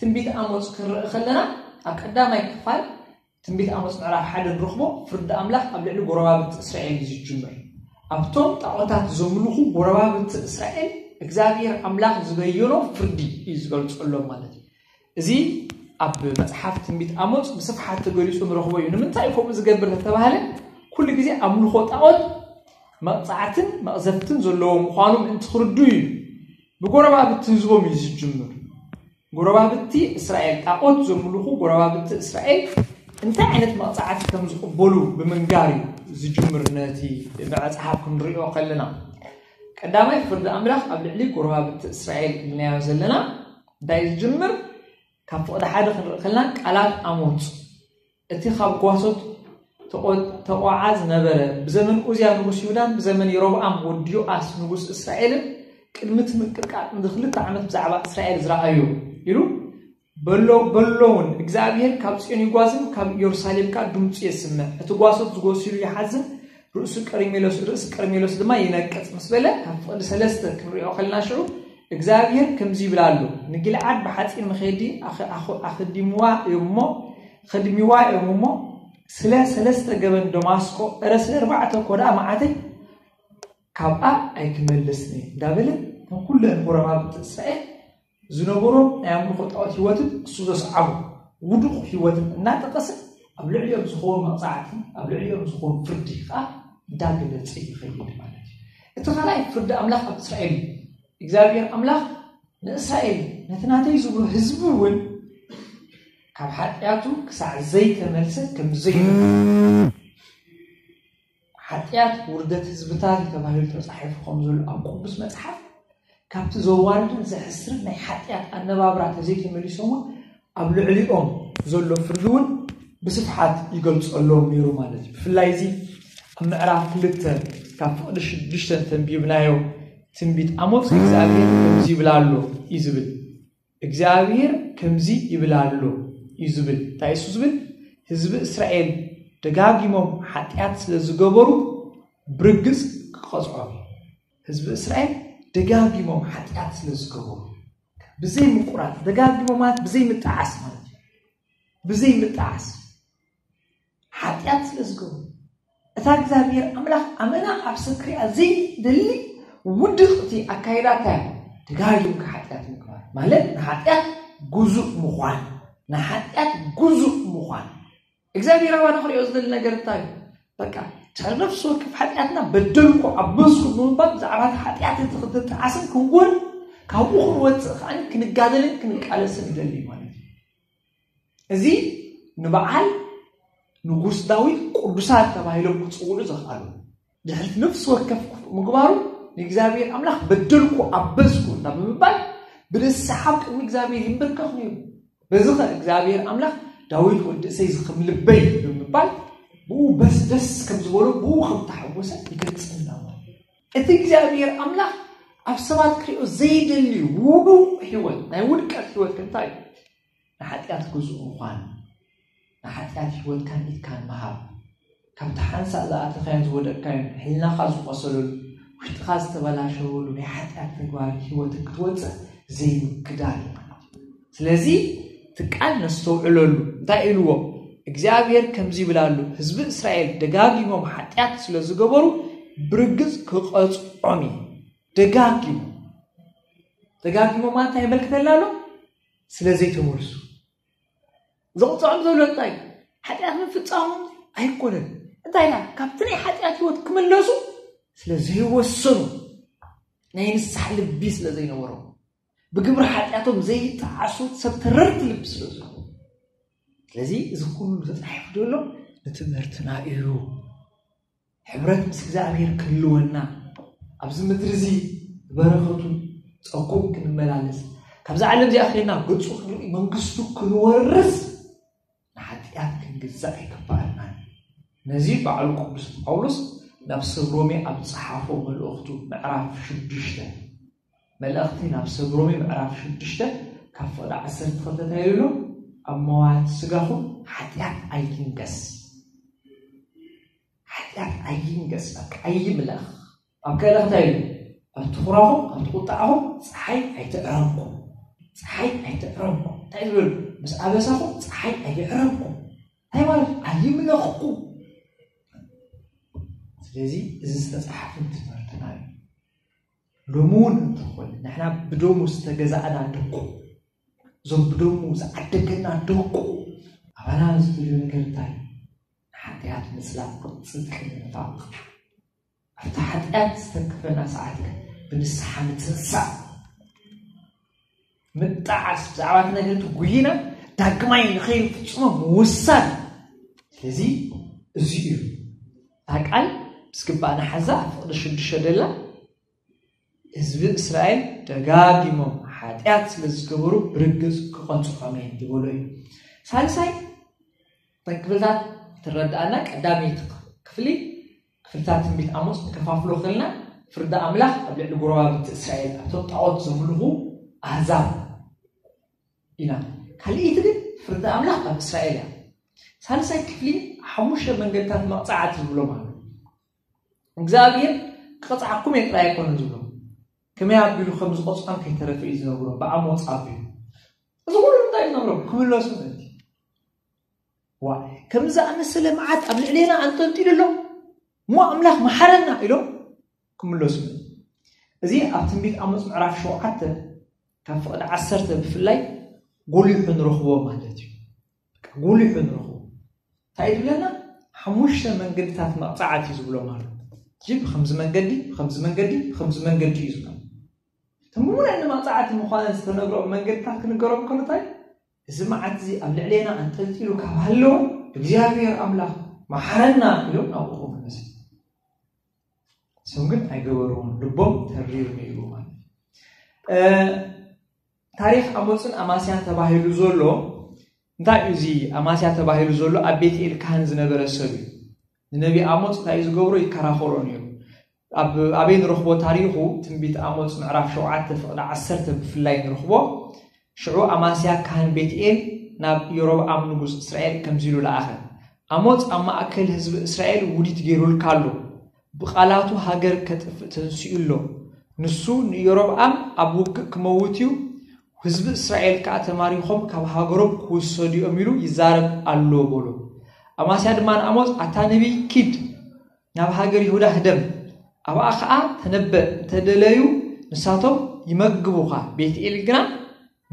ትንቢት ኣሞጽ ክንርኢ ከለና ኣብ ቀዳማይ ክፋል ትንቢት ኣሞጽ ምዕራፍ ሓደ ንረኽቦ ፍርዲ ኣምላኽ ኣብ ልዕሊ ጎረባብቲ እስራኤል እዩ ዝጅምር። ኣብቶም ጣዖታት ዘምልኹ ጎረባብቲ እስራኤል እግዚኣብሔር ኣምላኽ ዝበየኖ ፍርዲ እዩ ዝገልጸሎም ማለት እዩ። እዚ ኣብ መጽሓፍ ትንቢት ኣሞጽ ብስፍሓት ተገሊጹ ንረኽቦ እዩ። ንምንታይ እዩ ከምኡ ዝገብር ተተባህለ? ኩሉ ግዜ ኣምልኾ ጣዖት መቕጻዕትን መቕዘፍትን ዘለዎ ምዃኑ ምእንቲ ክርዱ እዩ። ብጎረባብቲ ህዝቦም እዩ ዝጅምር። ጎረባብቲ እስራኤል፣ ጣዖት ዘምልኹ ጎረባብቲ እስራኤል እንታይ ዓይነት መቕጻዕቲ ከም ዝቕበሉ ብምንጋር እዩ ዝጅምር። ነቲ መጽሓፍ ክንሪኦ ከለና ቀዳማይ ፍርዲ ኣምላኽ ኣብ ልዕሊ ጎረባብቲ እስራኤል ኢልናዮ ዘለና እንታይ እዩ ዝጅምር? ካብ ፍቕዲ ሓደ ክንርኢ ከለና ቃላት ኣሞጽ እቲ ካብ ጓሶት ተቖ- ተቖዓ ዝነበረ ብዘመን ኡዝያ ንጉስ ይሁዳን ብዘመን የሮብዓም ወዲ ዮኣስ ንጉስ እስራኤልን ቅድሚ እቲ ምቅጥቃጥ ንክልተ ዓመት ብዛዕባ እስራኤል ዝረኣዮ ኢሉ በሎ በሎውን እግዚኣብሔር ካብ ጽዮን ይጓዝን ካብ ኢየሩሳሌም ከኣ ድምፁ የስምዕ። እቲ ጓሶት ዝጎሲሉ ይሓዝን ርእሱ ቀርሜሎስ ርእሲ ቀርሜሎስ ድማ ይነቅጽ ምስ በለ ካብ ፍቕዲ ሰለስተ ክንሪኦ ከለና ሽዑ እግዚኣብሔር ከምዚ ይብል ኣሎ፣ ንጊልዓድ ብሓጺን መኸዲ ኣኸ- ኣኸ- ኣኸዲምዋ እዮም እሞ ኸድሚዋ እዮም እሞ ስለ ሰለስተ ገበን ደማስቆ እረ ስለ ኣርባዕተ ኮዳ መዓተይ ካብኣ ኣይክመልስን እየ እንዳበለ እቶም ኩለን ጎረባብቲ እስራኤል ዝነበሮም ናይ ኣምልኾ ጣዖት ህይወትን እሱ ዘስዓቦ ውዱቕ ህይወትን እናጠቐሰ ኣብ ልዕሊኦም ዝኸውን መቕፃዕቲ ኣብ ልዕሊኦም ዝኸውን ፍርዲ ከዓ እንዳገለፀ ይኸይድ ማለት እዩ። እቲ ካልኣይ ፍርዲ ኣምላኽ ኣብ እስራኤል እዩ። እግዚኣብሔር ኣምላኽ ንእስራኤል ነቲ ናተይ ዝብሎ ህዝቢ እውን ካብ ሓጢኣቱ ክሳዕ ዘይተመልሰ ከም ዘይመልስ ሓጢኣት ውርደት ህዝብታት እዩ ተባሂሉ ተፃሒፉ ከም ዘሎ ኣብ ቅዱስ መፅሓፍ ካብቲ ዘዋርድን ዘሕስርን ናይ ሓጢኣት ኣነባብራ ተዘይተመሊሶም እውን ኣብ ልዕሊኦም ዘሎ ፍርዲ እውን ብስፍሓት ይገልፀሎም ነይሩ ማለት እዩ። ብፍላይ እዚ ኣብ ምዕራፍ ክልተ ካብ ፍቕዲ ሽዱሽተ እንተንቢብናዮ ትንቢት ኣሞጽ እግዚኣብሔር ከምዚ ይብል ኣሎ እዩ ዝብል። እግዚኣብሔር ከምዚ ይብል ኣሎ እዩ ዝብል። እንታይ እሱ ዝብል? ህዝቢ እስራኤል ደጋጊሞም ሓጢኣት ስለ ዝገበሩ ብርግጽ ክቐጽዖም እዩ። ህዝቢ እስራኤል ደጋጊሞም ሓጢኣት ስለ ዝገበሩ ብዘይ ምቁራጽ ደጋጊሞም ማለት ብዘይ ምጣዓስ ማለት እዩ። ብዘይ ምጣዓስ ሓጢኣት ስለ ዝገብሩ እታ እግዚኣብሔር ኣምላኽ ኣመና ኣብ ሰብ ክሪኣ ዘይደሊ ውድቕቲ ኣካይዳ እንታይ ደጋጊምካ ሓጢኣት ምግባር ማለት ንሓጢኣት ጉዙእ ምዃን ንሓጢኣት ጉዙእ ምዃን እግዚኣብሔር ኣባና ክሪኦ ዝደሊ ነገር እንታይ እዩ? በቃ ድሕሪ ነፍሲ ወከፍ ሓጢኣትና በደልኩ ኣበዝኩ ብምባል ብዛዕባ እቲ ሓጢኣት እቲ ክትጣዓስን ክንጎን ካብኡ ክንወፅእ ከዓ ክንጋደልን ክንቃለስን ይደሊ ማለት እዩ። እዚ ንበዓል ንጉስ ዳዊት ቅዱሳት ተባሂሎም ክፅውዑ ዘኽኣሉ፣ ድሕሪ ነፍሲ ወከፍ ክፉእ ምግባሩ ንእግዚኣብሔር ኣምላኽ በደልኩ ኣበዝኩ እና ብምባል ብንስሓ ኣብ ቅድሚ እግዚኣብሔር ይንበርከኽ ነይሩ። በዚ ኸ እግዚኣብሔር ኣምላኽ ዳዊት ወዲ እሰይ ዝኽም ልበይ ብምባል ብኡ በስ ደስ ከም ዝበሎ ብኡ ከም ተሓወሰ ይገልጽልና ማለት እዩ። እቲ እግዚኣብሔር ኣምላኽ ኣብ ሰባት ክሪኦ ዘይደሊ ውዱቕ ህይወት፣ ናይ ውድቀት ህይወት እንታይ እዩ? ንሓጢኣት ግዙእ ምዃን፣ ንሓጢኣት ህይወትካን ኢድካን ምሃብ፣ ካብቲ ሓንሳእ ዝኣተኻዮን ዝወደቅካዮን ሕልናኻ ዝቆሰለሉ፣ ውሽጥኻ ዝተበላሸወሉ ናይ ሓጢኣት ተግባር ህይወት ክትወፅእ ዘይምክዳል እዩ ማለት እዩ። ስለዚ እቲ ቃል ነስተውዕለሉ። እንታይ ኢልዎ? እግዚኣብሔር ከምዚ ይብል ኣሎ፣ ህዝቢ እስራኤል ደጋጊሞም ሓጢኣት ስለ ዝገበሩ ብርግጽ ክቐጽዖም እዩ። ደጋጊሞም ደጋጊሞም ማለት እንታይ የመልክተልና ኣሎ? ስለ ዘይተመልሱ። ዘቕፅዖም ዘሎ እንታይ? ሓጢኣት ምፍፃሞም ኣይኮነን። እንታይ ኢላ? ካብቲ ናይ ሓጢኣት ህይወት ክምለሱ ስለ ዘይወሰኑ፣ ናይ ንስሓ ልቢ ስለ ዘይነበሮም፣ ብግብሪ ሓጢኣቶም ዘይጠዓሱ ሰብ ተረርቲ ልቢ ስለ ዝኾኑ። ስለዚ እዚ ኩሉ ተፃሒፉ ዘሎ ንትምህርትና እዩ። ሕብረት ምስ እግዚኣብሔር ክህልወና፣ ኣብዚ ምድሪ እዚ በረኸቱ ጸጉም ክንመላለስ፣ ካብዛ ዓለም እዚኣ ኸይድና ገጹ ክንርኢ መንግስቱ ክንወርስ ንሓጢኣት ክንግዛእ ኣይግባኣናን። ነዚ በዓሉ ቅዱስ ጳውሎስ ናብ ሰብ ሮሜ ኣብ ዝጸሓፎ መልእኽቱ ምዕራፍ ሽዱሽተ፣ መልእኽቲ ናብ ሰብ ሮሜ ምዕራፍ ሽዱሽተ ካብ ፍቕዲ ዓሰርተ ክልተ እንታይ ኢሉ? ኣብ መዋቲ ስጋኹም ሓጢኣት ኣይትንገስ። ሓጢኣት ኣይንገስ፣ በቃ ኣይምለኽ። ኣብ ከለኽ እንታይ ኢሉ? ኣብ ትኹራኹም፣ ኣብ ትቁጣዕኹም ፀሓይ ኣይትዕረብኩም። ፀሓይ ኣይትዕረብኩም። እንታይ ዝብል? ምስ ኣበሳኹም ፀሓይ ኣይዕረብኩም። እንታይ ማለት? ኣይምለኽኩም። ስለዚ እዚ ዝተፃሓፈ ትምህርትና እዩ። ሎሚ እውን እንተኾነ ንሕና ብደሙ ዝተገዛእና ደቁ፣ እዞም ብደሙ ዝዓደገና ደቁ ኣባና ዝደልዮ ነገር እንታይ? ንሓጢኣት ምጽላእ፣ ጽድቂ ምንፋቕ። ኣብቲ ሓጢኣት ዝተክፈና ሰዓት ግን ብንስሓ ምትንሳእ፣ ምጣዓስ፣ ብዛዕባ እቲ ነገር እቲ ጉይና ዳግማይ ንኸይንፍጽሞ ምውሳን። ስለዚ እዚ እዩ እታ ቃል ምስ ግባእና ሓዛ ኣብ ፍቕዲ ሽዱሽተ ደላ ህዝቢ እስራኤል ደጋጊሞም ሓጢኣት ስለ ዝገበሩ ብርግጽ ክቐጽዖም እየ ዝበሎ እዩ። ሳልሳይ ክፍልታት ትረዳኣና ቀዳመይቲ ክፍሊ ክፍልታት ትንቢት ኣሞጽ ንከፋፍሎ ክልና ፍርዲ ኣምላኽ ኣብ ልዕሊ ጎረባብቲ እስራኤል ኣብቶም ጣዖት ዘምልኹ ኣህዛብ ኢና። ካልኣይቲ ግን ፍርዲ ኣምላኽ ኣብ እስራኤል እያ። ሳልሳይ ክፍሊ ሓሙሽተ መንገድታት መቕጻዕቲ ዝብሎም ኣሎ። እግዚኣብሔር ክቐጽዓኩም እየ ጥራይ ኣይኮነን ዝብሎም። ከመይ ኣቢሉ ከም ዝቐጽዖም ከይተረፈ እዩ ዝነግሮም ብኣሞጽ ኣቢሉ። እዚ ኩሉ እንታይ እዩ ዝነግሮም? ክምለሱ ማለት እዩ። ዋ፣ ከም ዝኣመሰለ መዓት ኣብ ልዕሌና ኣንጠልጢሉ ኣሎ እሞ ኣምላኽ መሓረና ኢሎም ክምለሱ ማለት እዩ። እዚ ኣብ ትንቢት ኣሞጽ ምዕራፍ ሸውዓተ ካብ ፍቕዲ ዓሰርተ ብፍላይ ጎሊሑ ንረኽቦ ማለት እዩ። ጎሊሑ ንረኽቦ እንታይ ዝብለና? ሓሙሽተ መንገድታት መቕፃዕቲ ዝብሎም ኣሎ። እዚ ብከምዚ መንገዲ፣ ብከምዚ መንገዲ፣ ብከምዚ መንገዲ እዩ ዝብሎም። እቶም ብሙሉእ ንመቕፃዕቲ ምዃነን ዝተነግሮም መንገድታት ክንገሮም ከሎ እንታይ? እዚ መዓት እዚ ኣብ ልዕሌና ኣንጠልጢሉ ካብ ሃለወ እግዚኣብሔር ኣምላኽ መሓረና ኢሎም ናብኡ ክምለሱ። እሶም ግን ኣይገበርዎን፣ ልቦም ተሪር ነይሩ ማለት እዩ። ታሪኽ ኣሞፅን ኣማስያን ተባሂሉ ዘሎ እንታይ እዩ? እዚ ኣማስያ ተባሂሉ ዘሎ ኣብ ቤትኤል ካህን ዝነበረ ሰብ እዩ። ንነቢ ኣሞፅ እንታይ እዩ ዝገብሮ? ይከራኸሮ ነይሩ። ኣብ ኣበይ ንረኽቦ ታሪኹ? ትንቢት ኣሞፅ ምዕራፍ ሸውዓተ ፍቕዲ ዓሰርተ ብፍላይ ንረኽቦ። ሽዑ ኣማስያ ካህን ቤትኤል ናብ የሮብዓም ንጉስ እስራኤል ከምዚ ኢሉ ለኣኸ፣ ኣሞፅ ኣብ ማእከል ህዝቢ እስራኤል ውዲት ገይሩልካ ኣሎ። ብቓላቱ ሃገር ከጥፍእ ተንሲኡ ኣሎ። ንሱ ንኢዮሮብዓም ኣብ ውግእ ክመውት እዩ፣ ህዝቢ እስራኤል ከኣ ተማሪኾም ካብ ሃገሮም ክውሰዱ እዮም ኢሉ ይዛረብ ኣሎ በሎ። ኣማስያ ድማ ንኣሞጽ፣ ኣታ ነቢይ፣ ኪድ ናብ ሃገር ይሁዳ ህደም፣ ኣብኣ ኸኣ ተነበእ፣ እንተ ደለዩ ንሳቶም ይመግቡኻ። ቤትኤል ግና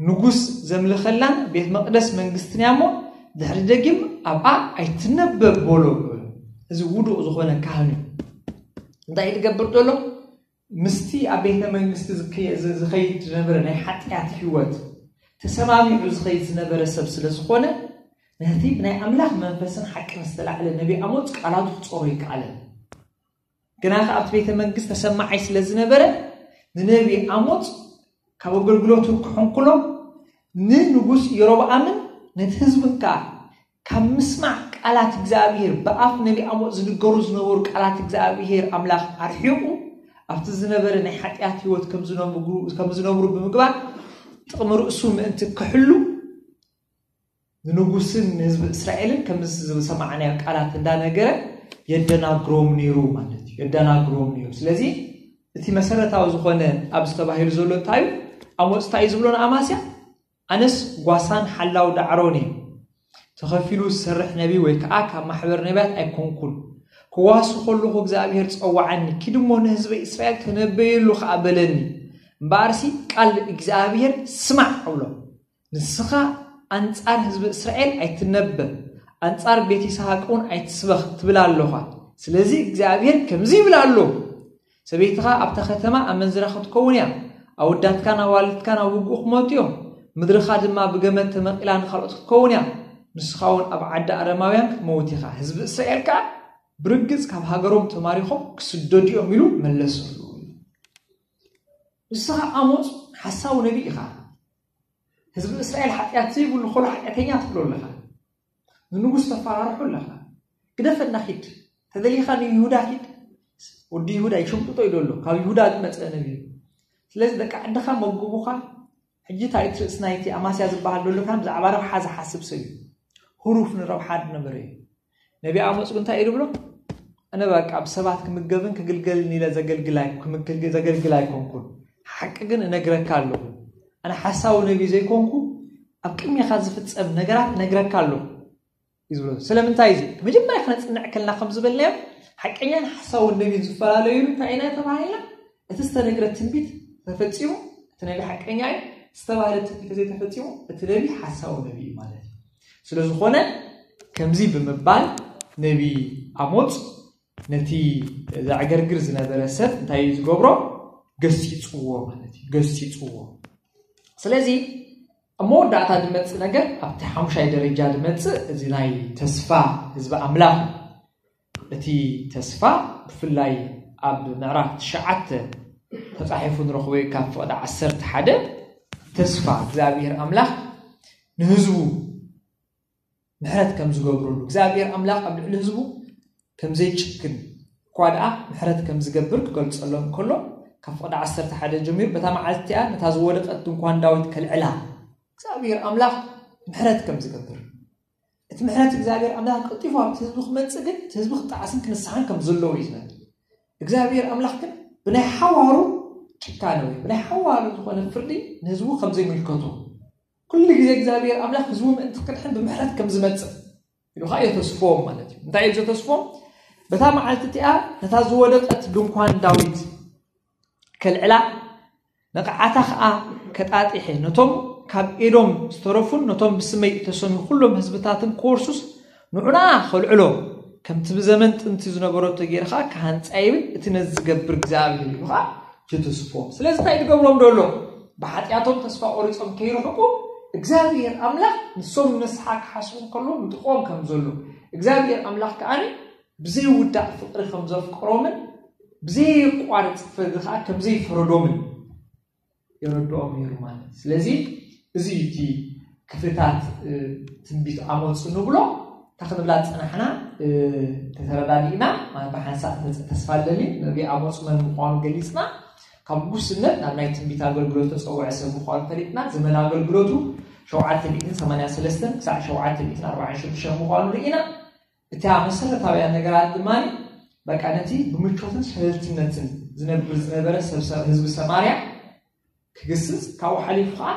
ንጉስ ዘምልኸላን ቤት መቕደስ መንግስትን እያ እሞ፣ ድሕሪ ደጊም ኣብኣ ኣይትነበብ በሎ። እዚ ውዱቕ ዝኾነ ካህን እዩ። እንታይ እዩ ዝገብር ዘሎ? ምስቲ ኣብ ቤተ መንግስቲ ዝከ- ዝ- ዝኸይድ ዝነበረ ናይ ሓጢኣት ህይወት ተሰማሚዑ ዝኸይድ ዝነበረ ሰብ ስለ ዝኾነ፣ ነቲ ብናይ ኣምላኽ መንፈስን ሓቅን ዝተላዕለ ነቢ ኣሞጽ ቃላቱ ክጾሮ ይከኣለን። ግና ከኣ ኣብቲ ቤተ መንግስቲ ተሰማዓይ ስለ ዝነበረ፣ ንነቢ ኣሞጽ ካብ ኣገልግሎቱ ክሕንኩሎ፣ ንንጉስ የሮብኣምን ነቲ ህዝብን ከኣ ካብ ምስማዕ ቃላት እግዚኣብሔር፣ ብኣፍ ነቢ ኣሞጽ ዝንገሩ ዝነበሩ ቃላት እግዚኣብሔር ኣምላኽ ኣርሒቑ፣ ኣብቲ ዝነበረ ናይ ሓጢኣት ህይወት ከም ዝነብሩ- ከም ዝነብሩ ብምግባር፣ ጥቕሚ ርእሱ ምእንቲ ክሕሉ፣ ንንጉስን ንህዝቢ እስራኤልን ከምዚ ዝሰማዕናዮ ቃላት እንዳነገረ የደናግሮም ነይሩ ማለት እዩ። የደናግሮም ነይሩ። ስለዚ እቲ መሰረታዊ ዝኾነ ኣብዚ ተባሂሉ ዘሎ እንታይ እዩ? ኣሞጽ እንታይ እዩ ዝብሎ ንኣማስያ? ኣነስ ጓሳን ሓላው ዳዕሮን እየ። ተኸፊሉ ዝሰርሕ ነቢ ወይ ከዓ ካብ ማሕበር ነቢያት ኣይኮንኩን። ክዋሱ ከለኹ እግዚኣብሔር ጸዋዓኒ፣ ኪድ እሞ ንህዝበ እስራኤል ተነበየሉ ከዓ በለኒ። እምበኣርሲ ቃል እግዚኣብሔር ስማዕ እብሎ። ንስኻ ኣንጻር ህዝቢ እስራኤል ኣይትነበ፣ ኣንጻር ቤት ይስሐቅ እውን ኣይትስበኽ ትብል ኣለኻ። ስለዚ እግዚኣብሔር ከምዚ ይብል ኣሎ፣ ሰበይትኻ ኣብታ ከተማ ኣመንዝራ ክትከውን እያ፣ ኣወዳትካን ኣዋልድካን ኣብ ውግእ ክመቱ እዮም፣ ምድርኻ ድማ ብገመድ ተመቒላ ንኻልኦት ክትከውን እያ፣ ንስኻ እውን ኣብ ዓዲ ኣረማውያን ክትመውት ኢኻ፣ ህዝቢ እስራኤል ከኣ ብርግጽ ካብ ሃገሮም ተማሪኾም ክስደዱ እዮም ኢሉ መለሰሉ። ንስኻ ኣሞጽ ሓሳዊ ነቢ ኢኻ። ህዝቢ እስራኤል ሓጢኣት ዘይብሉ ከሎ ሓጢኣተኛ ትብሎ ኣለኻ። ንንጉስ ተፈራርሑ ኣለኻ። ግደፈና ኪድ። ተደሊኻ ንይሁዳ ኪድ። ወዲ ይሁዳ ይሽምጥጦ እዩ ዘሎ። ካብ ይሁዳ ዝመጸ ነቢ እዩ። ስለዚ ደቂ ዓድኻ መግቡኻ። ሕጂ እንታይ እቲ ርእሲ ናይቲ ኣማስያ ዝበሃል ዘሎ ካን ብዛዕባ ረብሓ ዝሓስብ ሰብ እዩ። ህሩፍ ንረብሓ ዝነበረ እዩ። ነቢ ኣሞጽ ግን እንታይ እዩ ዝብሎ? ኣነ በቃ ብሰባት ክምገብን ክግልገልን ኢለ ዘገልግል ኣይ- ክምግል- ዘገልግል ኣይኮንኩን። ሓቂ ግን እነግረካ ኣለኹ። ኣነ ሓሳዊ ነቢ ዘይኮንኩ ኣብ ቅድሜኻ ዝፍጸም ነገራት እነግረካ ኣለኹ እዩ ዝብሎ። ስለምንታይ እዚ መጀመርያ ክነጽንዕ ከልና ከም ዝበልናዮ ሓቀኛን ሓሳውን ነቢን ዝፈላለዩሉ እንታይ ኢና ተባሂልና? እቲ ዝተነግረ ትንቢት ተፈጺሙ፣ እቲ ነቢ ሓቀኛ እዩ፣ ዝተባህለ ትንቢት ዘይተፈጺሙ፣ እቲ ነቢ ሓሳዊ ነቢ እዩ ማለት እዩ። ስለ ዝኾነ ከምዚ ብምባል ነቢ ኣሞጽ ነቲ ዘዕገርግር ዝነበረ ሰብ እንታይ እዩ ዝገብሮ? ገሲጽዎ ማለት እዩ። ገሲጽዎ። ስለዚ ኣብ መወዳእታ ዝመጽእ ነገር ኣብቲ ሓሙሻይ ደረጃ ዝመጽእ እዚ ናይ ተስፋ ህዝቢ ኣምላኽ እዩ። እቲ ተስፋ ብፍላይ ኣብ ምዕራፍ ትሽዓተ ተጻሒፉ ንረኽቦ እዩ። ካብ ፍቕዲ ዓሰርተ ሓደ ተስፋ እግዚኣብሔር ኣምላኽ ንህዝቡ ምሕረት ከም ዝገብረሉ እግዚኣብሔር ኣምላኽ ኣብ ልዕሊ ህዝቡ ከም ዘይጭክን እኳ ደኣ ምሕረት ከም ዝገብር ክገልጸሎም ከሎ ካብ ፍቕዲ ዓሰርተ ሓደ ጀሚሩ በታ መዓልቲ እቲኣ ነታ ዝወደቐት ድንኳን ዳዊት ከልዕላ እግዚኣብሔር ኣምላኽ ምሕረት ከም ዝገብር እቲ ምሕረት እግዚኣብሔር ኣምላኽ ቀልጢፉ ኣብቲ ህዝቢ ክመጽእ ግን እቲ ህዝቢ ክጠዓስን ክንስሓን ከም ዘለዎ እዩ ዝነግር እግዚኣብሔር ኣምላኽ ግን ብናይ ሓዋሩ ጭካነ ወይ ብናይ ሓዋሩ ዝኾነ ፍርዲ ንህዝቡ ከም ዘይምልከቱ ኩሉ ግዜ እግዚኣብሔር ኣምላኽ ህዝቡ ምእንቲ ክድሕን ብምሕረት ከም ዝመጽእ ኢሉ ከዓ የተስፎም ማለት እዩ እንታይ እዩ ዘተስፎም በታ መዓልቲ እቲኣ ነታ ዝወደቀት ድንኳን ዳዊት ከልዕላ ነቕዓታ ከዓ ከጣጢሐ ነቶም ካብ ኤዶም ዝተረፉን ነቶም ብስመይ እተሰምዩ ኩሎም ህዝብታትን ክወርሱስ ንዑና ከልዕሎ ከምቲ ብዘመን ጥንቲ ዝነበረቶ ገይርካ ክሃንፃ ይብል እቲ ነዚ ዝገብር እግዚኣብሔር ኢሉ ከዓ ይትስፎም ስለዚ እንታይ ዝገብሮም ደሎ ብሓጢኣቶም ተስፋ ቆሪፆም ከይርሕቁ እግዚኣብሔር ኣምላኽ ንሶም ንስሓ ክሓስቡ ከሎ ምጥቆም ከም ዘሎ እግዚኣብሔር ኣምላኽ ከዓ ብዘይውዳእ ፍቅሪ ከም ዘፍቅሮምን ብዘየቋርፅ ፍርዲ ከዓ ከም ዘይፈረዶምን የረድኦም ነይሩ ማለት እዩ ስለዚ እዚ እቲ ክፍልታት ትንቢት ኣሞፅ ንብሎ እታ ክንብላ ዝፀናሕና ተተረዳዲእና ብሓንሳእ ተስፋ ኣለኒ ነቢ ኣሞፅ መን ምኳኑ ገሊፅና ካብ ጉስነት ናብ ናይ ትንቢት ኣገልግሎት ተፀውዐ ሰብ ምኳኑ ፈሊጥና ዘመን ኣገልግሎቱ ሸውዓተ ሚእትን ሰማንያን ሰለስተን ክሳዕ ሸውዓተ ሚእትን ኣርባዓን ሽዱሽተን ምኳኑ ርኢና እታ መሰረታውያን ነገራት ድማ በቃ ነቲ ብምቾትን ሸለልትነትን ዝነብር ዝነበረ ሰብ ሰብ ህዝቢ ሰማርያ ክግስጽ ካብኡ ሓሊፉ ከዓ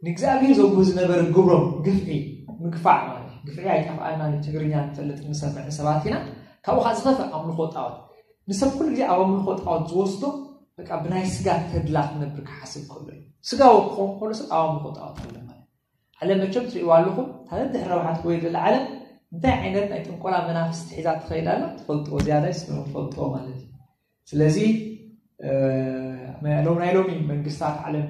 ንእግዚኣብሔር ዘብሁ ዝነበረ ግብሮም ግፍዒ ምግፋዕ ማለት እዩ። ግፍዒ ኣይጠፍኣና ንትግርኛ ንፈልጥ ንሰምዕ ሰባት ኢና። ካብኡ ከዓ ዝኸፍእ ኣምልኾ ጣዖት ንሰብ ኩሉ ግዜ ኣብ ኣምልኾ ጣዖት ዝወስዶ በቃ ብናይ ስጋ ተድላ ክነብር ክሓስብ ከሎ እዩ። ስጋዊ ክኸውን ከሎ ሰብ ኣብ ኣምልኾ ጣዖት ኣሎ ማለት እዩ። ዓለም መቸም ትርእይዋ ኣለኹም እታ ነድሕር ረብሓ ትጎይ ዘላ ዓለም እንታይ ዓይነት ናይ ጥንቆላ መናፍስቲ ሒዛ ትኸይድ ኣላ ትፈልጥዎ ዝያዳ ይስምዑ ትፈልጥዎ ማለት እዩ ስለዚ እ፣ ናይ ሎም ናይ ሎሚ መንግስታት ዓለም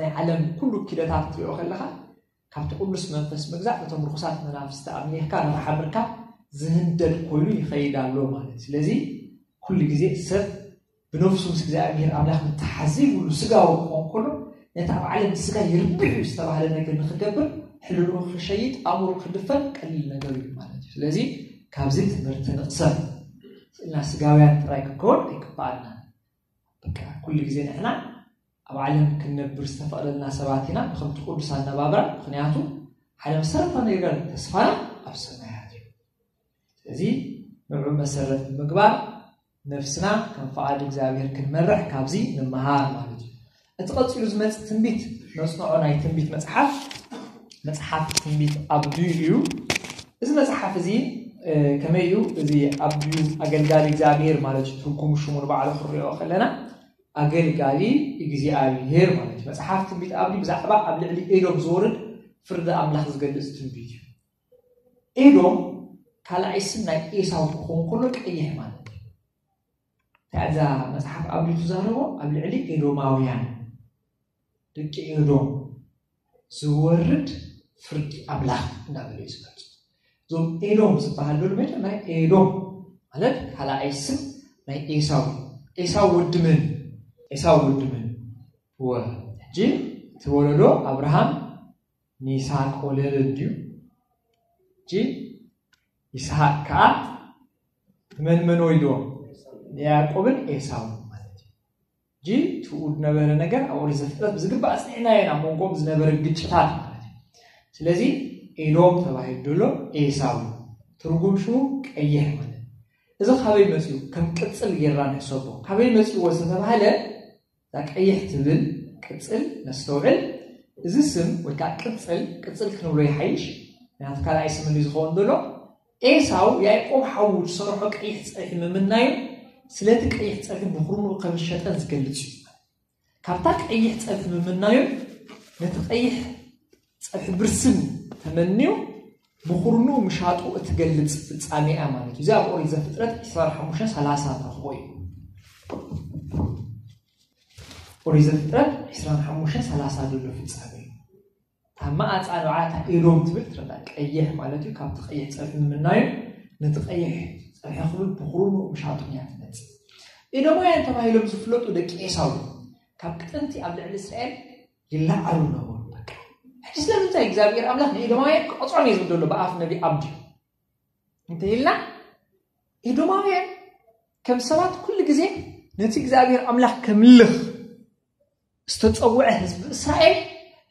ናይ ዓለም ኩሉ ኪደታት ክትሪኦ ከለኻ ካብቲ ቅዱስ መንፈስ ምግዛእ ነቶም ርኩሳት መናፍስቲ ኣምሊኽካ ንኽሓምርካ ዝህንደድ ኮይኑ ይኸይድ ኣሎ ማለት እዩ። ስለዚ ኩሉ ግዜ ሰብ ብነፍሱ ምስ እግዚኣብሔር ኣምላኽ ምተሓዚብሉ ስጋዊ ክኾን ከሎ ነቲ ኣብ ዓለም ስጋ ይርብሕ እዩ ዝተባህለ ነገር ንክገብር ሕልሉ ክሸይጥ ኣእምሮ ክድፈን ቀሊል ነገር እዩ ማለት እዩ። ስለዚ ካብዚ ትምህርቲ ንቕሰም። ስእልና ስጋውያን ጥራይ ክከውን ኣይግባኣና። በቃ ኩሉ ግዜ ንሕና ኣብ ዓለም ክንነብር ዝተፈቕደልና ሰባት ኢና ብከምቲ ቅዱስ ኣነባብራ። ምክንያቱ ሓደ መሰረታዊ ነገር ተስፋና ኣብ ሰማያት እዩ። ስለዚ ንዑ መሰረት ብምግባር ነፍስና ከም ፍቓድ እግዚኣብሔር ክንመርሕ ካብዚ ንምሃር ማለት እዩ። እቲ ቀፂሉ ዝመፅእ ትንቢት ነፅንዖ ናይ ትንቢት መፅሓፍ መፅሓፍ ትንቢት ኣብድዩ እዩ። እዚ መፅሓፍ እዚ ከመይ እዩ? እዚ ኣብድዩ ኣገልጋሊ እግዚኣብሔር ማለት እዩ። ትርጉም ሽሙ ንባዕሉ ክንሪኦ ከለና ኣገልጋሊ እግዚኣብሔር ማለት እዩ። መፅሓፍ ትንቢት ኣብድዩ ብዛዕባ ኣብ ልዕሊ ኤዶም ዝወርድ ፍርዲ ኣምላኽ ዝገልፅ ትንቢት እዩ። ኤዶም ካልኣይ ስም ናይ ኤሳው ክኸውን ከሎ ቀይሕ ማለት እዩ። እንታይ እዛ መፅሓፍ ኣብድዩ ትዛረቦ? ኣብ ልዕሊ ኤዶማውያን ደቂ ኤዶም ዝወርድ ፍርዲ ኣምላኽ እንዳበለ እዩ ዝገልፁ። እዞም ኤዶም ዝበሃል ዘሎ መጀመርያ ኤዶም ማለት ካልኣይ ስም ናይ ኤሳው እዩ። ኤሳው ወዲ መን? ኤሳው ወዲ መን? ወ ሕጂ እቲ ወለዶ ኣብርሃም ንይስሐቅ ወለደ እንድዩ። ሕጂ ይስሐቅ ከዓ መን መን ወሊድዎም? ንያዕቆብን ኤሳውን ማለት እዩ። ሕጂ ትኡ ዝነበረ ነገር ኣብ ኦሪት ዘፍጥረት ብዝግባእ ኣፅኒዕናዮ ኢና። ኣብ መንጎም ዝነበረ ግጭታት ማለት እዩ። ስለዚ ኤዶም ተባሂሉ ዘሎ ኤሳው እዩ። ትርጉም ሽሙ ቀይሕ ማለት እዩ። እዚ ካበይ መፅኡ? ከም ቅፅል ጌርና ንሕሰቦ። ካበይ መፅእዎ ዝተባህለ እዛ ቀይሕ ትብል ቅፅል ነስተውዕል። እዚ ስም ወይ ከዓ ቅፅል ቅፅል ክንብሎ ይሓይሽ። ምክንያቱ ካልኣይ ስም እንዲ ዝኸውን ዘሎ ኤሳው ያዕቆብ ሓዉ ዝሰርሖ ቀይሕ ፀብሒ ምምናዩ ስለቲ ቀይሕ ፀብሒ ብኩርንኡ ከም ዝሸጠን ዝገልፅ እዩ። ካብታ ቀይሕ ፀብሒ ምምናዩ ነቲ ቀይሕ ፀብሒ ብርስን ተመንዩ ብኩርንኡ ምሻጡ እትገልፅ ፍፃሜ እያ ማለት እዩ። እዚ ኣብ ኦሪት ዘፍጥረት ዕስራን ሓሙሽተን ሰላሳ ንረኽቦ እዩ። ኦሪት ዘፍጥረት ዕስራን ሓሙሽተን ሰላሳ ዘሎ ፍፃሜ እዩ። እታ መኣፃ ንብዓታ ኤዶም ትብል ትረዳ ቀይሕ ማለት እዩ። ካብቲ ቀይሕ ፀብሒ ምምናዩ ነቲ ቀይሕ ፀብሒ ክብል ብኩርንኡ ምሻጡ እያ ትመፅእ። ኤዶማውያን ተባሂሎም ዝፍለጡ ደቂ ኤሳው እዮም። ካብ ጥንቲ ኣብ ልዕሊ እስራኤል ይለዓሉ ነበሩ። በቃ ሕጂ ስለምንታይ እግዚኣብሔር ኣምላኽ ንኤዶማውያን ክቐፅዖም እየ ዝብል ዘሎ ብኣፍ ነቢ ኣብድዩ እንተ ኢልና ኤዶማውያን ከም ሰባት ኩሉ ግዜ ነቲ እግዚኣብሔር ኣምላኽ ከምልኽ ዝተፀውዐ ህዝቢ እስራኤል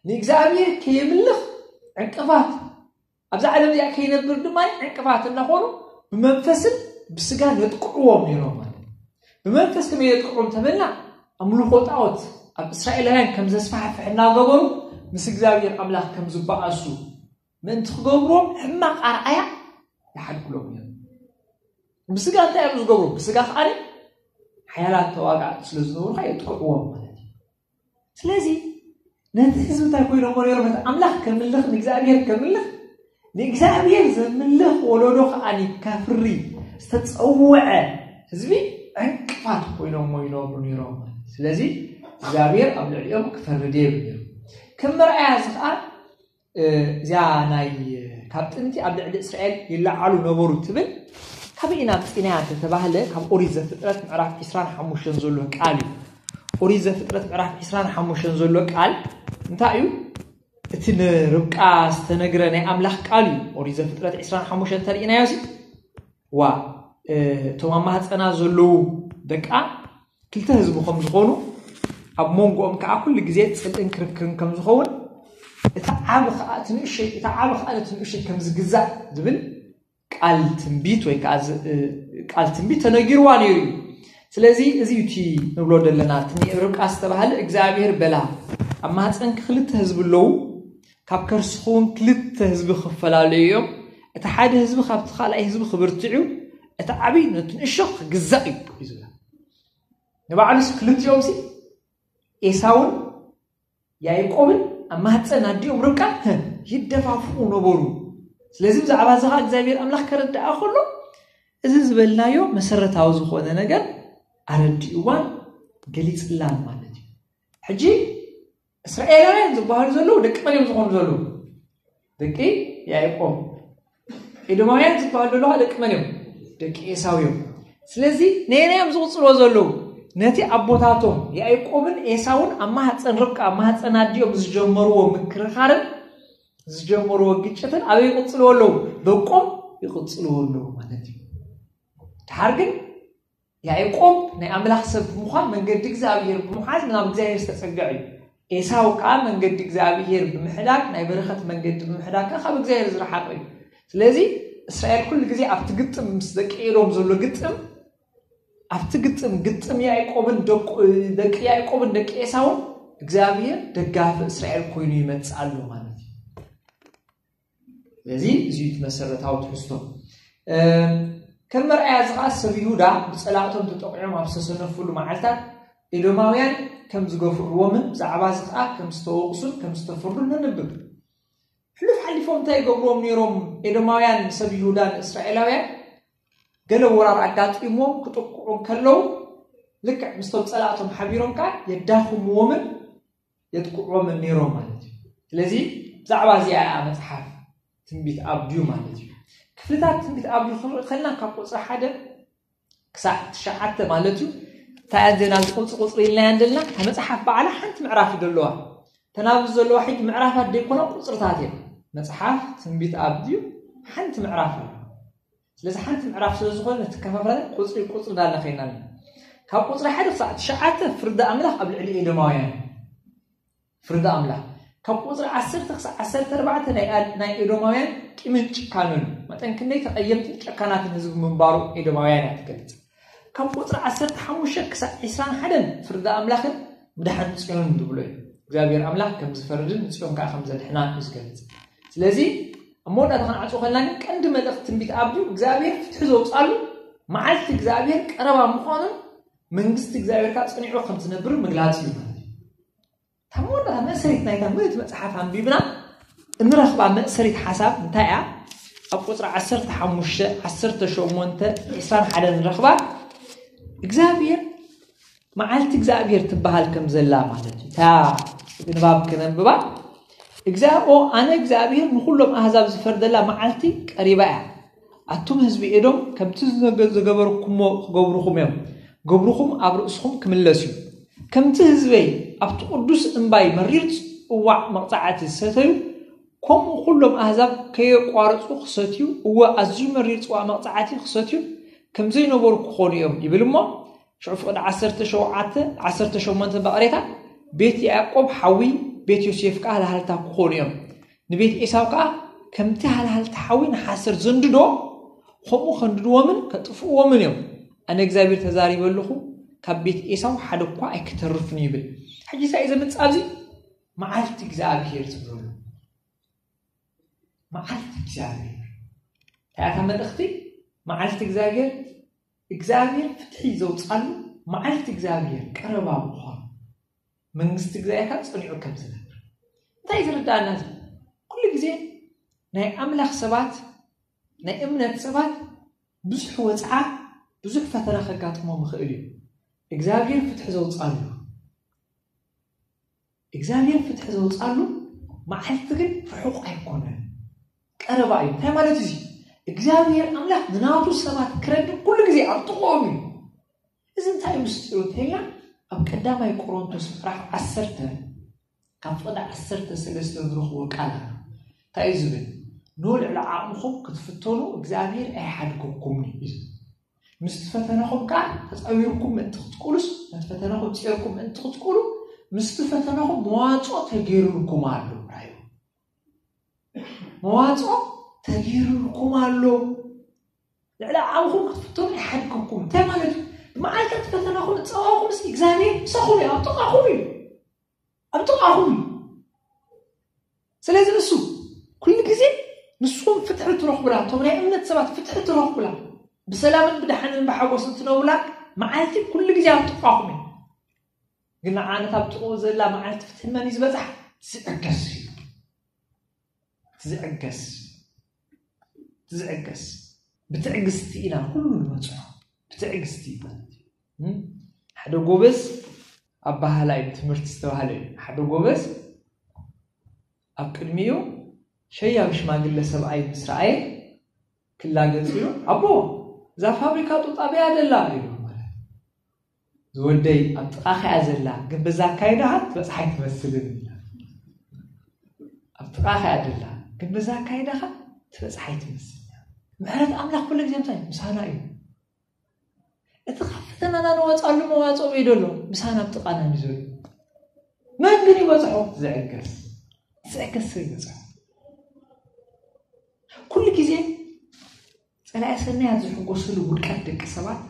ንእግዚኣብሔር ከየምልኽ ዕንቅፋት ኣብዛ ዓለም እዚኣ ከይነብር ድማ ዕንቅፋት እናኾኑ ብመንፈስን ብስጋ ነጥቅዕዎም ነይሮም ማለት እዩ። ብመንፈስ ከመይ የጥቅዑ እንተበልና ኣምልኾ ጣዖት ኣብ እስራኤላውያን ከም ዘስፋሕፍሕ እናገበሩ ምስ እግዚኣብሔር ኣምላኽ ከም ዝበኣሱ ምእንቲ ክገብርዎም ሕማቕ ኣርኣያ ይሓድግሎም እዮም። ብስጋ እንታይ እዮም ዝገብሩ? ብስጋ ከዓ ሓያላት ተዋጋእቲ ስለ ዝነበሩ ከዓ የጥቅዕዎም ማለት እዩ። ስለዚ ነቲ ህዝቢ እንታይ ኮይኖሞ ነይሮም? ነቲ ኣምላኽ ከምልኽ ንእግዚኣብሔር ከምልኽ ንእግዚኣብሔር ዘምልኽ ወለዶ ከዓ ከፍሪ ዝተፀወዐ ህዝቢ ዕንቅፋት ኮይኖሞ ይነብሩ ነይሮም ማለት እዩ። ስለዚ እግዚኣብሔር ኣብ ልዕሊኦም ክፈርድ የብል ነይሩ። ከም መርኣያ እዚ ከዓ እዚኣ ናይ ካብ ጥንቲ ኣብ ልዕሊ እስራኤል ይለዓሉ ነበሩ ትብል ካበይ ኢና ኣምፂናያ እንተተባህለ ካብ ኦሪት ዘፍጥረት ምዕራፍ ዕስራን ሓሙሽተን ዘሎ ቃል እዩ። ኦሪት ዘፍጥረት ምዕራፍ ዕስራን ሓሙሽተን ዘሎ ቃል እንታይ እዩ? እቲ ንርብቃ ዝተነግረ ናይ ኣምላኽ ቃል እዩ። ኦሪት ዘፍጥረት ዕስራን ሓሙሽተን እንተርኢናዮ ሲ ዋ እቶም ኣብ ማህፀና ዘለዉ ደቃ ክልተ ህዝቢ ከም ዝኾኑ ኣብ መንጎኦም ከዓ ኩሉ ግዜ ፅልእን ክርክርን ከም ዝኸውን እቲ ዓቢ ከዓ እቲ ንእሽተይ እቲ ዓቢ ከዓ ነቲ ንእሽተይ ከም ዝግዛእ ዝብል ቃል ትንቢት ወይ ከዓ ቃል ትንቢት ተነጊርዋ ነይሩ እዩ። ስለዚ እዚ እቲ ንብሎ ዘለና እቲ ርብቃ ዝተባሃለ እግዚኣብሔር በላ ኣብ ማህፀንኪ ክልተ ህዝቢ ኣለዉ ካብ ከርስኺ እውን ክልተ ህዝቢ ክፈላለዩ እዮም እቲ ሓደ ህዝቢ ካብቲ ካልኣይ ህዝቢ ክብርትዕ እዩ እቲ ዓብይ ነቲ ንእሾ ክግዛእ እዩ እዩ ዝብላ ንባዕሉስ ክልቲኦም ሲ ኤሳውን ያዕቆብን ኣብ ማህፀን ኣዲኦም ርብቃ ይደፋፍኡ ነበሩ። ስለዚ ብዛዕባ እዚ ከዓ እግዚኣብሔር ኣምላኽ ከረድኣ ከሎ እዚ ዝበልናዮ መሰረታዊ ዝኾነ ነገር ኣረዲእዋን ገሊፅላን ማለት እዩ። ሕጂ እስራኤላውያን ዝበሃሉ ዘለዉ ደቂ መን እዮም ዝኾኑ ዘለዉ? ደቂ ያዕቆብ። ኤዶማውያን ዝበሃሉ ዘለዉ ደቂ መን እዮም? ደቂ ኤሳው እዮም። ስለዚ ነየናይ እዮም ዝቕፅልዎ ዘለዉ? ነቲ ኣቦታቶም ያዕቆብን ኤሳውን ኣብ ማህፀን ርብቃ ኣብ ማህፀን ኣዲኦም ዝጀመርዎ ምክርኻርን ዝጀመርዎ ግጭትን ኣበይ ይቕፅልዎ ኣለዉ? ደቆም ይቕፅልዎ ኣለዉ ማለት እዩ። ድሓር ግን ያዕቆብ ናይ ኣምላኽ ሰብ ብምዃን መንገዲ እግዚኣብሔር ብምሓዝ ናብ እግዚኣብሔር ዝተጸግዐ እዩ። ኤሳው ከዓ መንገዲ እግዚኣብሔር ብምሕዳግ ናይ በረኸት መንገዲ ብምሕዳግ ከዓ ካብ እግዚኣብሔር ዝረሓቐ እዩ። ስለዚ እስራኤል ኩሉ ግዜ ኣብቲ ግጥም ምስ ደቂ ኤዶም ዘሎ ግጥም ኣብቲ ግጥም ግጥም ያዕቆብን ደቂ ያዕቆብን ደቂ ኤሳውን እግዚኣብሔር ደጋፊ እስራኤል ኮይኑ ይመጽእ ኣሎ ማለት እዩ። ስለዚ እዚ እቲ መሰረታዊ ትሕዝቶ። ከም መርኣያ እዚ ከዓ ሰብ ይሁዳ ብፀላእቶም ተጠቂዖም ኣብ ዝተሰነፍሉ መዓልታት ኤዶማውያን ከም ዝገፍዕዎምን ብዛዕባ እዚ ከዓ ከም ዝተወቕሱን ከም ዝተፈርዱን ነንብብ። ሕሉፍ ሓሊፎም እንታይ ይገብርዎም ነይሮም? ኤዶማውያን ሰብ ይሁዳ ንእስራኤላውያን ገለ ወራር ኣጋጢምዎም ክጥቅዑ ከለዉ ልክዕ ምስቶም ፀላእቶም ሓቢሮም ከዓ የዳኽምዎምን የጥቅዕዎምን ነይሮም ማለት እዩ። ስለዚ ብዛዕባ እዚኣ እያ መፅሓፍ ትንቢት ኣብድዩ ማለት እዩ። ክፍልታት ትንቢት ኣብድዩ ክንርኢ ከለና ካብ ቁፅሪ ሓደ ክሳዕ ትሽዓተ ማለት እዩ። እንታይ እየን ዜና ቁፅሪ ቁፅሪ ኢልናያ እንደልና እታ መፅሓፍ በዓላ ሓንቲ ምዕራፍ እዩ ዘለዋ። ተናብዚ ዘለዋ ሕጂ ምዕራፋት ደይኮና ቁፅርታት እዮም። መፅሓፍ ትንቢት ኣብድዩ ሓንቲ ምዕራፍ እዩ። ስለዚ ሓንቲ ምዕራፍ ስለ ዝኾነ ነቲ ከፋፍላና ቁፅሪ ቁፅሪ እንዳልና ከይና ኣለና። ካብ ቁፅሪ ሓደ ክሳዕ ትሽዓተ ፍርዲ ኣምላኽ ኣብ ልዕሊ ኤዶማውያን ፍርዲ ኣምላኽ ካብ ቁፅሪ ዓሰርተ ክሳዕ ዓሰርተ ኣርባዕተ ናይ ኣድ- ናይ ኤዶማውያን ቂምን ጭካኑን መጠን ክንደይ ተቐየምትን ጨካናትን ህዝቢ ምንባሩ ኤዶማውያን እያ ትገልፅ። ካብ ቁፅሪ ዓሰርተ ሓሙሽተ ክሳዕ ዒስራን ሓደን ፍርዲ ኣምላኽን ምድሓን ፅዮንን ዝብሎ እዩ። እግዚኣብሔር ኣምላኽ ከም ዝፈርድን ንፅዮን ከዓ ከም ዘድሕና እዩ ዝገልፅ። ስለዚ ኣብ መወዳእታ ክንዓፅዎ ከለና ግን ቀንዲ መልእኽቲ ትንቢት ኣብድዩ እግዚኣብሔር ፍትሒ ዘውፃሉ መዓልቲ እግዚኣብሔር ቀረባ ምዃኑን መንግስቲ እግዚኣብሔር ከዓ ፅኒዑ ከም ዝነብር ምግላፅ እዩ ማለት እዩ። እታ መወዳእታ መእሰሪት ናይታ ምእንቲ መፅሓፍ ኣንቢብና እንረኽባ መእሰሪት ሓሳብ እንታይ እያ? ኣብ ቁፅሪ ዓሰርተ ሓሙሽተ፣ ዓሰርተ ሸሞንተ፣ ዒስራን ሓደን ንረኽባ። እግዚኣብሔር መዓልቲ እግዚኣብሔር ትበሃል ከም ዘላ ማለት እዩ። እታ ንባብ ክነንብባ እግዚኣብኦ ኣነ እግዚኣብሔር ንኩሎም ኣህዛብ ዝፈርደላ መዓልቲ ቀሪባ እያ። ኣቱም ህዝቢ ኤዶም ከምቲ ዝገበርኩሞ ክገብሩኹም እዮም። ገብርኹም ኣብ ርእስኹም ክምለስ እዩ። ከምቲ ህዝበይ ኣብቲ ቅዱስ እምባይ መሪር ጽዋዕ መቕጻዕቲ ዝሰተዩ፣ ከምኡ ኩሎም ኣህዛብ ከየቋርጹ ክሰትዩ፣ እወ ኣዝዩ መሪር ጽዋዕ መቕጻዕቲ ክሰትዩ ከም ዘይነበሩ ክኾኑ እዮም ይብል እሞ፣ ሽዑ ፍቕዲ ዓሰርተ ሸውዓተ ዓሰርተ ሸሞንተ በቐሬታ፣ ቤት ያዕቆብ ሓዊ፣ ቤት ዮሴፍ ከኣ ሃልሃልታ ክኾኑ እዮም። ንቤት ኤሳው ከኣ ከምቲ ሃልሃልቲ ሓዊ ንሓሰር ዘንድዶ፣ ከምኡ ከንድድዎምን ከጥፍእዎምን እዮም። ኣነ እግዚኣብሔር ተዛሪበ ኣለኹ፣ ካብ ቤት ኤሳው ሓደ እኳ ኣይክተርፍን ይብል። ሕጂ ሳይ ዘምፅእ ኣብዚ መዓልቲ እግዚኣብሔር ትብሉ። መዓልቲ እግዚኣብሔር እንታይ እታ መልእኽቲ? መዓልቲ እግዚኣብሔር እግዚኣብሔር ፍትሒ ዘውፃሉ መዓልቲ እግዚኣብሔር ቀረባ ምዃኑ መንግስቲ እግዚኣብሔር ጸኒዑ ከም ዝነብር እንታይ ዝርዳእና እዚ? ኩሉ ግዜ ናይ ኣምላኽ ሰባት ናይ እምነት ሰባት ብዙሕ ወፅዓ ብዙሕ ፈተና ከጋጥሞም ይኽእል እዩ። እግዚኣብሔር ፍትሒ ዘውፃሉ እግዚኣብሔር ፍትሒ ዘውፃሉ መዓልቲ ግን ርሑቕ ኣይኮነን፣ ቀረባ እዩ። እንታይ ማለት እዚ? እግዚኣብሔር ኣምላኽ ንናቱ ሰባት ክረድእ ኩሉ ግዜ ኣብ ጥቕኦም እዩ። እዚ እንታይ ምስጢሩ እንተኢልና ኣብ ቀዳማይ ቆሮንቶስ ምዕራፍ ዓሰርተ ካብ ፍቕዲ ዓሰርተ ሰለስተ ንረኽቦ ቃል ኣሎ። እንታይ እዩ ዝብል? ኖ ልዕሊ ዓቕምኹም ክትፍተኑ እግዚኣብሔር ኣይሓድገኩምን እዩ። ምስቲ ፈተነኹም ከዓ ተፃዊርኩም ምእንቲ ክትቅሉስ ነቲ ፈተነኹም ፂርኩም ምእንቲ ክትቅሉ ምስቲ ፈተነኹም መዋፅኦ ተገይሩልኩም ኣሎ። ራዩ መዋፅኦ ተገይሩልኩም ኣሎ። ልዕሊ ዓቕምኹም ክትፍተኑ ይሓድገኩም እንታይ ማለት እዩ? ብመዓልታት ፈተናኹም ፀዋኹም ስ እግዚኣብሔር ምሳኹም እዩ ኣብ ጥቓኹም እዩ ኣብ ጥቓኹም እዩ። ስለዚ ንሱ ኩሉ ግዜ ንስኹም ፍትሒ ትረኽቡላ እቶም ናይ እምነት ሰባት ፍትሒ ትረኽቡላ ብሰላምን ብድሓንን ብሓጎስን ትነብሩላ መዓልቲ ኩሉ ግዜ ኣብ ጥቓኹም እዩ። ግን ንዓነት ኣብ ጥቕኡ ዘላ መዓልቲ ፍትሒ መን እዩ ዝበፅሓ? ዝዕገስ እዩ። ዝዕገስ ዝዕገስ ብትዕግስቲ ኢና ኩሉ ንበፅሖ። ብትዕግስቲ ማለት እዩ። ሓደ ጎበዝ ኣባህላይ ትምህርቲ ዝተባህለ እዩ። ሓደ ጎበዝ ኣብ ቅድሚኡ ሸያብ ሽማግለ ሰብኣይ ምስ ረኣየ ክላገጽ ኢሉ፣ ኣቦ፣ እዛ ፋብሪካ ጡጥ ኣበይ እያ ዘላ? ኢሉ። ዝወደይ፣ ኣብ ጥቓኻ እያ ዘላ፣ ግን በዛ ኣካይዳኻ ትበጽሓ ኣይትመስልን። ኣብ ጥቓኻ እያ ዘላ፣ ግን በዛ ኣካይዳኻ ትበጽሓ ኣይትመስልን። ምሕረት ኣምላኽ ኩሉ ግዜ ምሳና እዩ። እቲ ካብ ፈተናና ንወፃሉ መዋፅኦ እዩ ዘሎ፣ ምሳና ኣብ ጥቓና እዩ ዘሎ። መን ግን ይበፅሖ? ዝዕገስ። ዝዕገስ ሰብ ይበፅሖ። ኩሉ ግዜ ፀላኢ ሰናያት ዝሕጎስሉ ውድቀት ደቂ ሰባት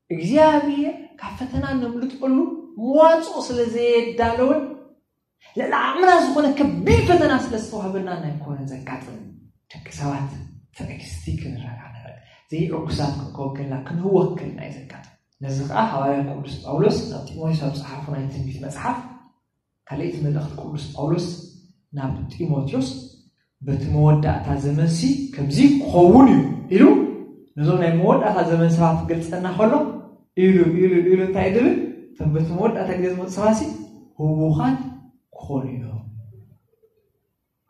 እግዚኣብሔር ካብ ፈተና ነምልጠሉ መዋፅኦ ስለ ዘየዳለወን ልዕሊ ዓቕምና ዝኾነ ከቢድ ፈተና ስለ ዝተዋህበና ኣይኮነን ዘጋጥም። ደቂ ሰባት ትዕግስቲ ክንረዳዳእ፣ ዘይዕጉሳት ክንከውን ከለና ክንህወኽ ከለና እዩ ዘጋጥም። ነዚ ኸዓ ሃዋርያ ቅዱስ ጳውሎስ ናብ ጢሞቴዎስ ኣብ ጸሓፎ ናይ ትንቢት መጽሓፍ፣ ካልኣይቲ መልእኽቲ ቅዱስ ጳውሎስ ናብ ጢሞቴዎስ፣ በቲ መወዳእታ ዘመንሲ ከምዚ ክኸውን እዩ ኢሉ ነዞም ናይ መወዳእታ ዘመን ሰባት ክገልጸና ከሎ፣ ኢሉ ኢሉ ኢሉ እንታይ ድብል? እቶም በቲ መወዳእታ ግዜ ዝመፁ ሰባሲ ህውኻት ክኾኑ እዮም።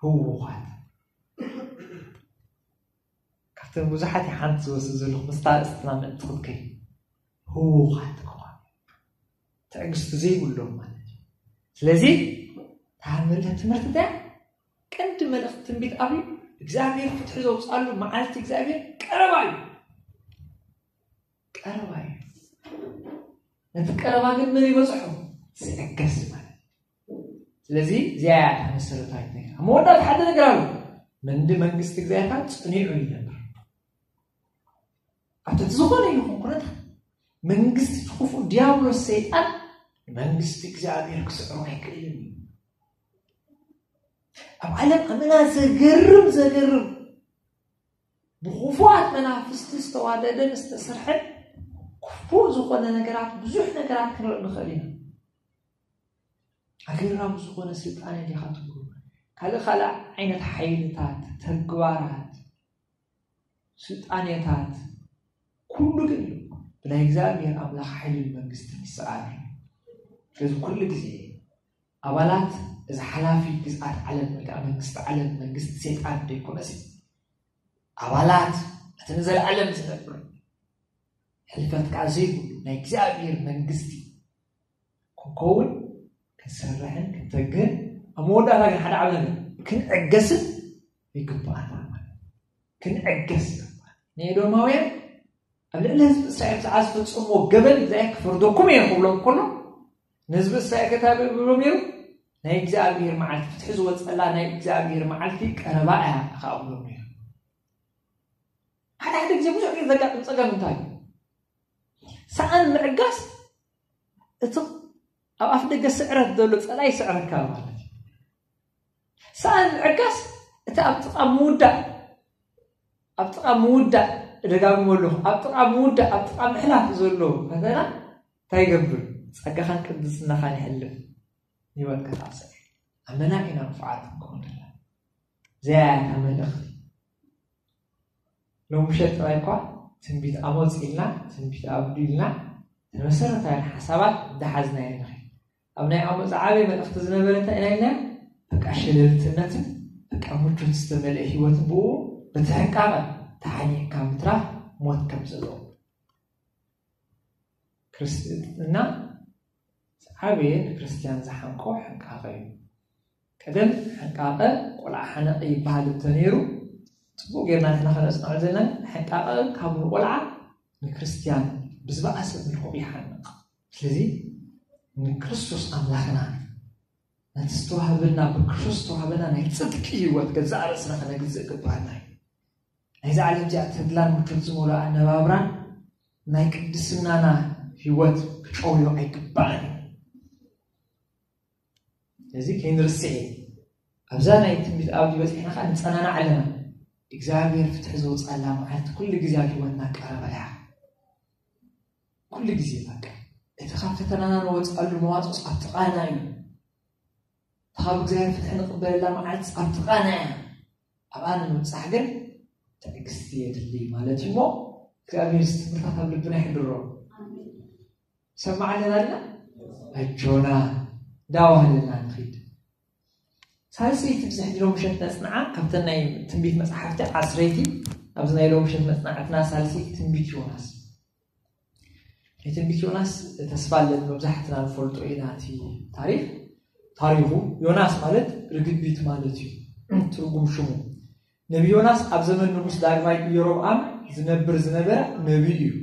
ህውኻት ካብተን ብዙሓት ሓንቲ ዝወስድ ዘለኹ ምስታ ኣርእስትና ምእንቲ ክትከይ ህውኻት ክኾኑ፣ ትዕግስቲ ዘይብሎም ማለት እዩ። ስለዚ ታምልተ ትምህርቲ እንታይ? ቀንዲ መልእኽቲ ትንቢት ኣብዩ እግዚኣብሔር ፍትሒ ዘውፅኣሉ መዓልቲ እግዚኣብሔር ቀረባ እዩ። ቀረባ እዩ። ነቲ ቀረባ ግን መን ይበፅሖ? ዝዕገስ ማለት እዩ። ስለዚ እዚኣ እያ እታ መሰረታዊት ነገር። ኣብ መወዳእታ ሓደ ነገር ኣሎ። መንዲ መንግስቲ እግዚኣብሔር ጽኒዑ ይነብር። ኣብ ትሕቲ ዝኾነ ይኹን ኩነታት መንግስቲ እቲ ክፉእ ዲያብሎስ ሰይጣን መንግስቲ እግዚኣብሔር ክስዕሮ ኣይክእልን እዩ። ኣብ ዓለም ኣመና ዘገርም ዘገርም ብክፉኣት መናፍስቲ ዝተዋደደን ዝተሰርሐን ክፉእ ዝኾነ ነገራት ብዙሕ ነገራት ክንርኢ ንኽእል ኢና። ኣገራሚ ዝኾነ ስልጣነ ዲኻ ትብሉ ካልእ ካልእ ዓይነት ሓይልታት ተግባራት ስልጣኔታት ኩሉ ግን ብናይ እግዚኣብሔር ኣምላኽ ሓይልን መንግስትን ይሰኣል እዩ። ስለዚ ኩሉ ግዜ ኣባላት እዚ ሓላፊ ግዝኣት ዓለም ወይ ከዓ መንግስቲ ዓለም መንግስቲ ሰይጣን ዘይኮነሲ ኣባላት እቲ ንዘለኣለም ዝነብር ሕልፈት ከዓ ዘይብሉ ናይ እግዚኣብሔር መንግስቲ ክንከውን ክንሰርሕን ክንተግህን ኣብ መወዳእታ ግን ሓደ ዓብ ነገር ክንዕገስን ይግባኣና ማለት ክንዕገስ ይግባል። ንኤዶማውያን ኣብ ልዕሊ ህዝቢ እስራኤል ብዛዕባ ዝፈፀምዎ ገበን እግዚኣብሔር ክፈርደኩም እየ ክብሎም ከሎ ንህዝቢ እስራኤል ከታ ብሎም ነይሩ ናይ እግዚኣብሔር መዓልቲ ፍትሒ ዝወፀላ ናይ እግዚኣብሔር መዓልቲ ቀረባ እያ ከዓ ብሎም ነይሩ። ሓደ ሓደ ግዜ ብዙሕ ግዜ ዘጋጥም ፀገም እንታይ እዩ? ሰኣን ምዕጋስ እቲ ኣብ ኣፍ ደገ ስዕረት ዘሎ ፀላይ ስዕረካ ማለት እዩ። ሰኣን ምዕጋስ እቲ ኣብ ጥቓ ምውዳእ ኣብ ጥቓ ምውዳእ እደጋግሞ ኣለኹ ኣብ ጥቓ ምውዳእ ኣብ ጥቓ ምሕላፍ ዘሎ ፈተና እንታይ ይገብር? ፀጋኻን ቅድስናኻን ይሕልፍ። ህይወትካ ታብሰር ኣመና ኢና ንፉዓት ክንከውን ዘለና። እዚኣ እያ እታ መልእኽቲ። ሎምሸ ጥራይ እኳ ትንቢት ኣሞጽ ኢልና ትንቢት ኣብዱ ኢልና ተመሰረታውያን ሓሳባት እንዳሓዝና ኢና ንኸይድ። ኣብ ናይ ኣሞጽ ዓበይ መልእኽቲ ዝነበረ እንታይ ኢና ኢልና? በቃ ሸለልትነትን በቃ ምቾት ዝተመልአ ህይወትን ብኡ በቲ ሕንቃቐ ተሓኒቕካ ምትራፍ ሞት ከም ዘለዎ ክርስትና ዓበየ ንክርስትያን ዝሓንቆ ሕንቃቐ እዩ። ቀደም ሕንቃቐ ቆልዓ ሓነቐ ይበሃል እንተነይሩ፣ ጽቡቕ ጌርና ንሕና ከነጽንዖ ዘለና ሕንቃቐ ካብ ንቆልዓ ንክርስትያን ብዝበኣሰ መልክዑ ይሓንቕ። ስለዚ ንክርስቶስ ኣምላኽና ነቲ ዝተዋህበና ብክርስቶስ ዝተዋህበና ናይ ጽድቂ ህይወት ገዛእ ርእስና ከነግዝእ ይግባኣና እዩ። ናይዛ ዓለም እዚኣ ተድላን ምቾት ዝመልኦ ኣነባብራን ናይ ቅድስናና ህይወት ክጨውዮ ኣይግባእን እዩ። ስለዚ ከይንርስዕ እዩ። ኣብዛ ናይ ትንቢት ኣብዲ በፂሕና ከዓ ንፀናናዕ ኣለና። እግዚኣብሔር ፍትሒ ዘውፅኣላ መዓልቲ ኩሉ ግዜ ኣብ ህይወትና ቀረባ እያ። ኩሉ ግዜ በቃ እቲ ካብ ፈተናና ንወፅኣሉ መዋፅኦስ ኣብ ጥቓና እዩ። ካብ እግዚኣብሔር ፍትሒ ንቕበለላ መዓልቲ ኣብ ጥቓና እያ። ኣብኣ ንምብፃሕ ግን ትዕግስቲ የድሊ ማለት እዩ። እሞ እግዚኣብሔር እዚ ትምህርታት ኣብ ልብና ይሕድሮ። ሰማዕ ኣለና ኣለና ኣጆና እንዳባህለና ንኺድ። ሳልሰይቲ ብዝሕድሮ ምሸት ነጽንዓ ካብተን ናይ ትንቢት መጽሓፍቲ ዓስረይቲ ኣብዚ ናይ ሎሚ ምሸት መጽናዕትና ሳልሰይቲ ትንቢት ዮናስ። ናይ ትንቢት ዮናስ ተስፋ ኣለኒ መብዛሕትና ንፈልጦ ኢና እቲ ታሪክ። ታሪኹ ዮናስ ማለት ርግቢት ማለት እዩ ትርጉም ሽሙ። ነቢ ዮናስ ኣብ ዘመን ንጉስ ዳግማይ ኢዮሮብኣም ዝነብር ዝነበረ ነቢይ እዩ።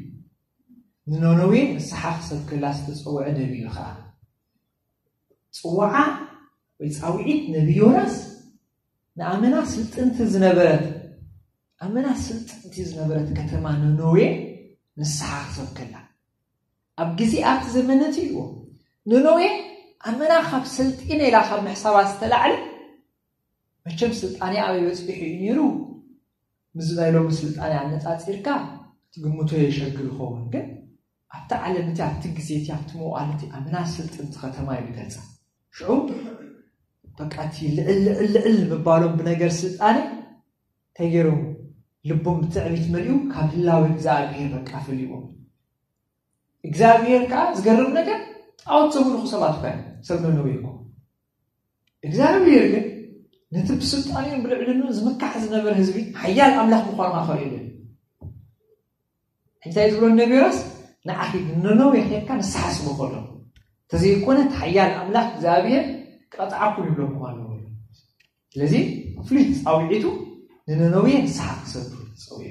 ንነነዌ ንስሓ ክሰብከላ ዝተጸውዐ ነቢይ እዩ ኸዓ። ጽዋዓ ወይ ጻውዒት ነቢ ዮናስ ንኣመና ስልጥንቲ ዝነበረት ኣመና ስልጥንቲ ዝነበረት ከተማ ነነዌ ንስሓ ክሰብከላ ኣብ ግዜ ኣብቲ ዘመነት እዩ። ነነዌ ኣመና ካብ ስልጢነ ኢላ ካብ ምሕሳባ ዝተላዕለ መቸም ስልጣኔ ኣበይ በፂሑ እዩ ነይሩ? ምስዚ ናይ ሎሚ ስልጣኔ ኣነፃፂርካ ክትግምቶ የሸግር ይኸውን። ግን ኣብቲ ዓለም እቲ ኣብቲ ግዜ እቲ ኣብቲ መዋእለ እቲ ኣመና ስልጥንቲ ከተማ እዩ ዝገልፃ። ሽዑ በቃ እቲ ልዕል ልዕል ልዕል ምባሎም ብነገር ስልጣኔ እንታይ ገይሮም? ልቦም ብትዕቢት መሊኡ ካብ ህላዊ እግዚኣብሔር በቃ ፈሊዎም። እግዚኣብሔር ከዓ ዝገርም ነገር ጣዖት ዘምልኹ ሰባት እኳ እዮም። ሰብ ነነዌ እኮ እግዚኣብሔር ግን ነቲ ብስልጣኔን ብልዕልንኡን ዝምካሕ ዝነበረ ህዝቢ ሓያል ኣምላኽ ምዃኑ ከዓ ከርእየሉ እዩ። እንታይ ዝብሎ ነቢ ዮናስ ንዓኺ ነነዌ ኬድካ ንስሓ ስበኮሎም፣ እንተዘይኮነ እቲ ሓያል ኣምላኽ እግዚኣብሔር ክቐጥዓኩም ይብለኩም ኣለዎ። ስለዚ ፍሉይ ፃውዒቱ ንነነዌ ንስሓ ክሰዱ ፀውዒ።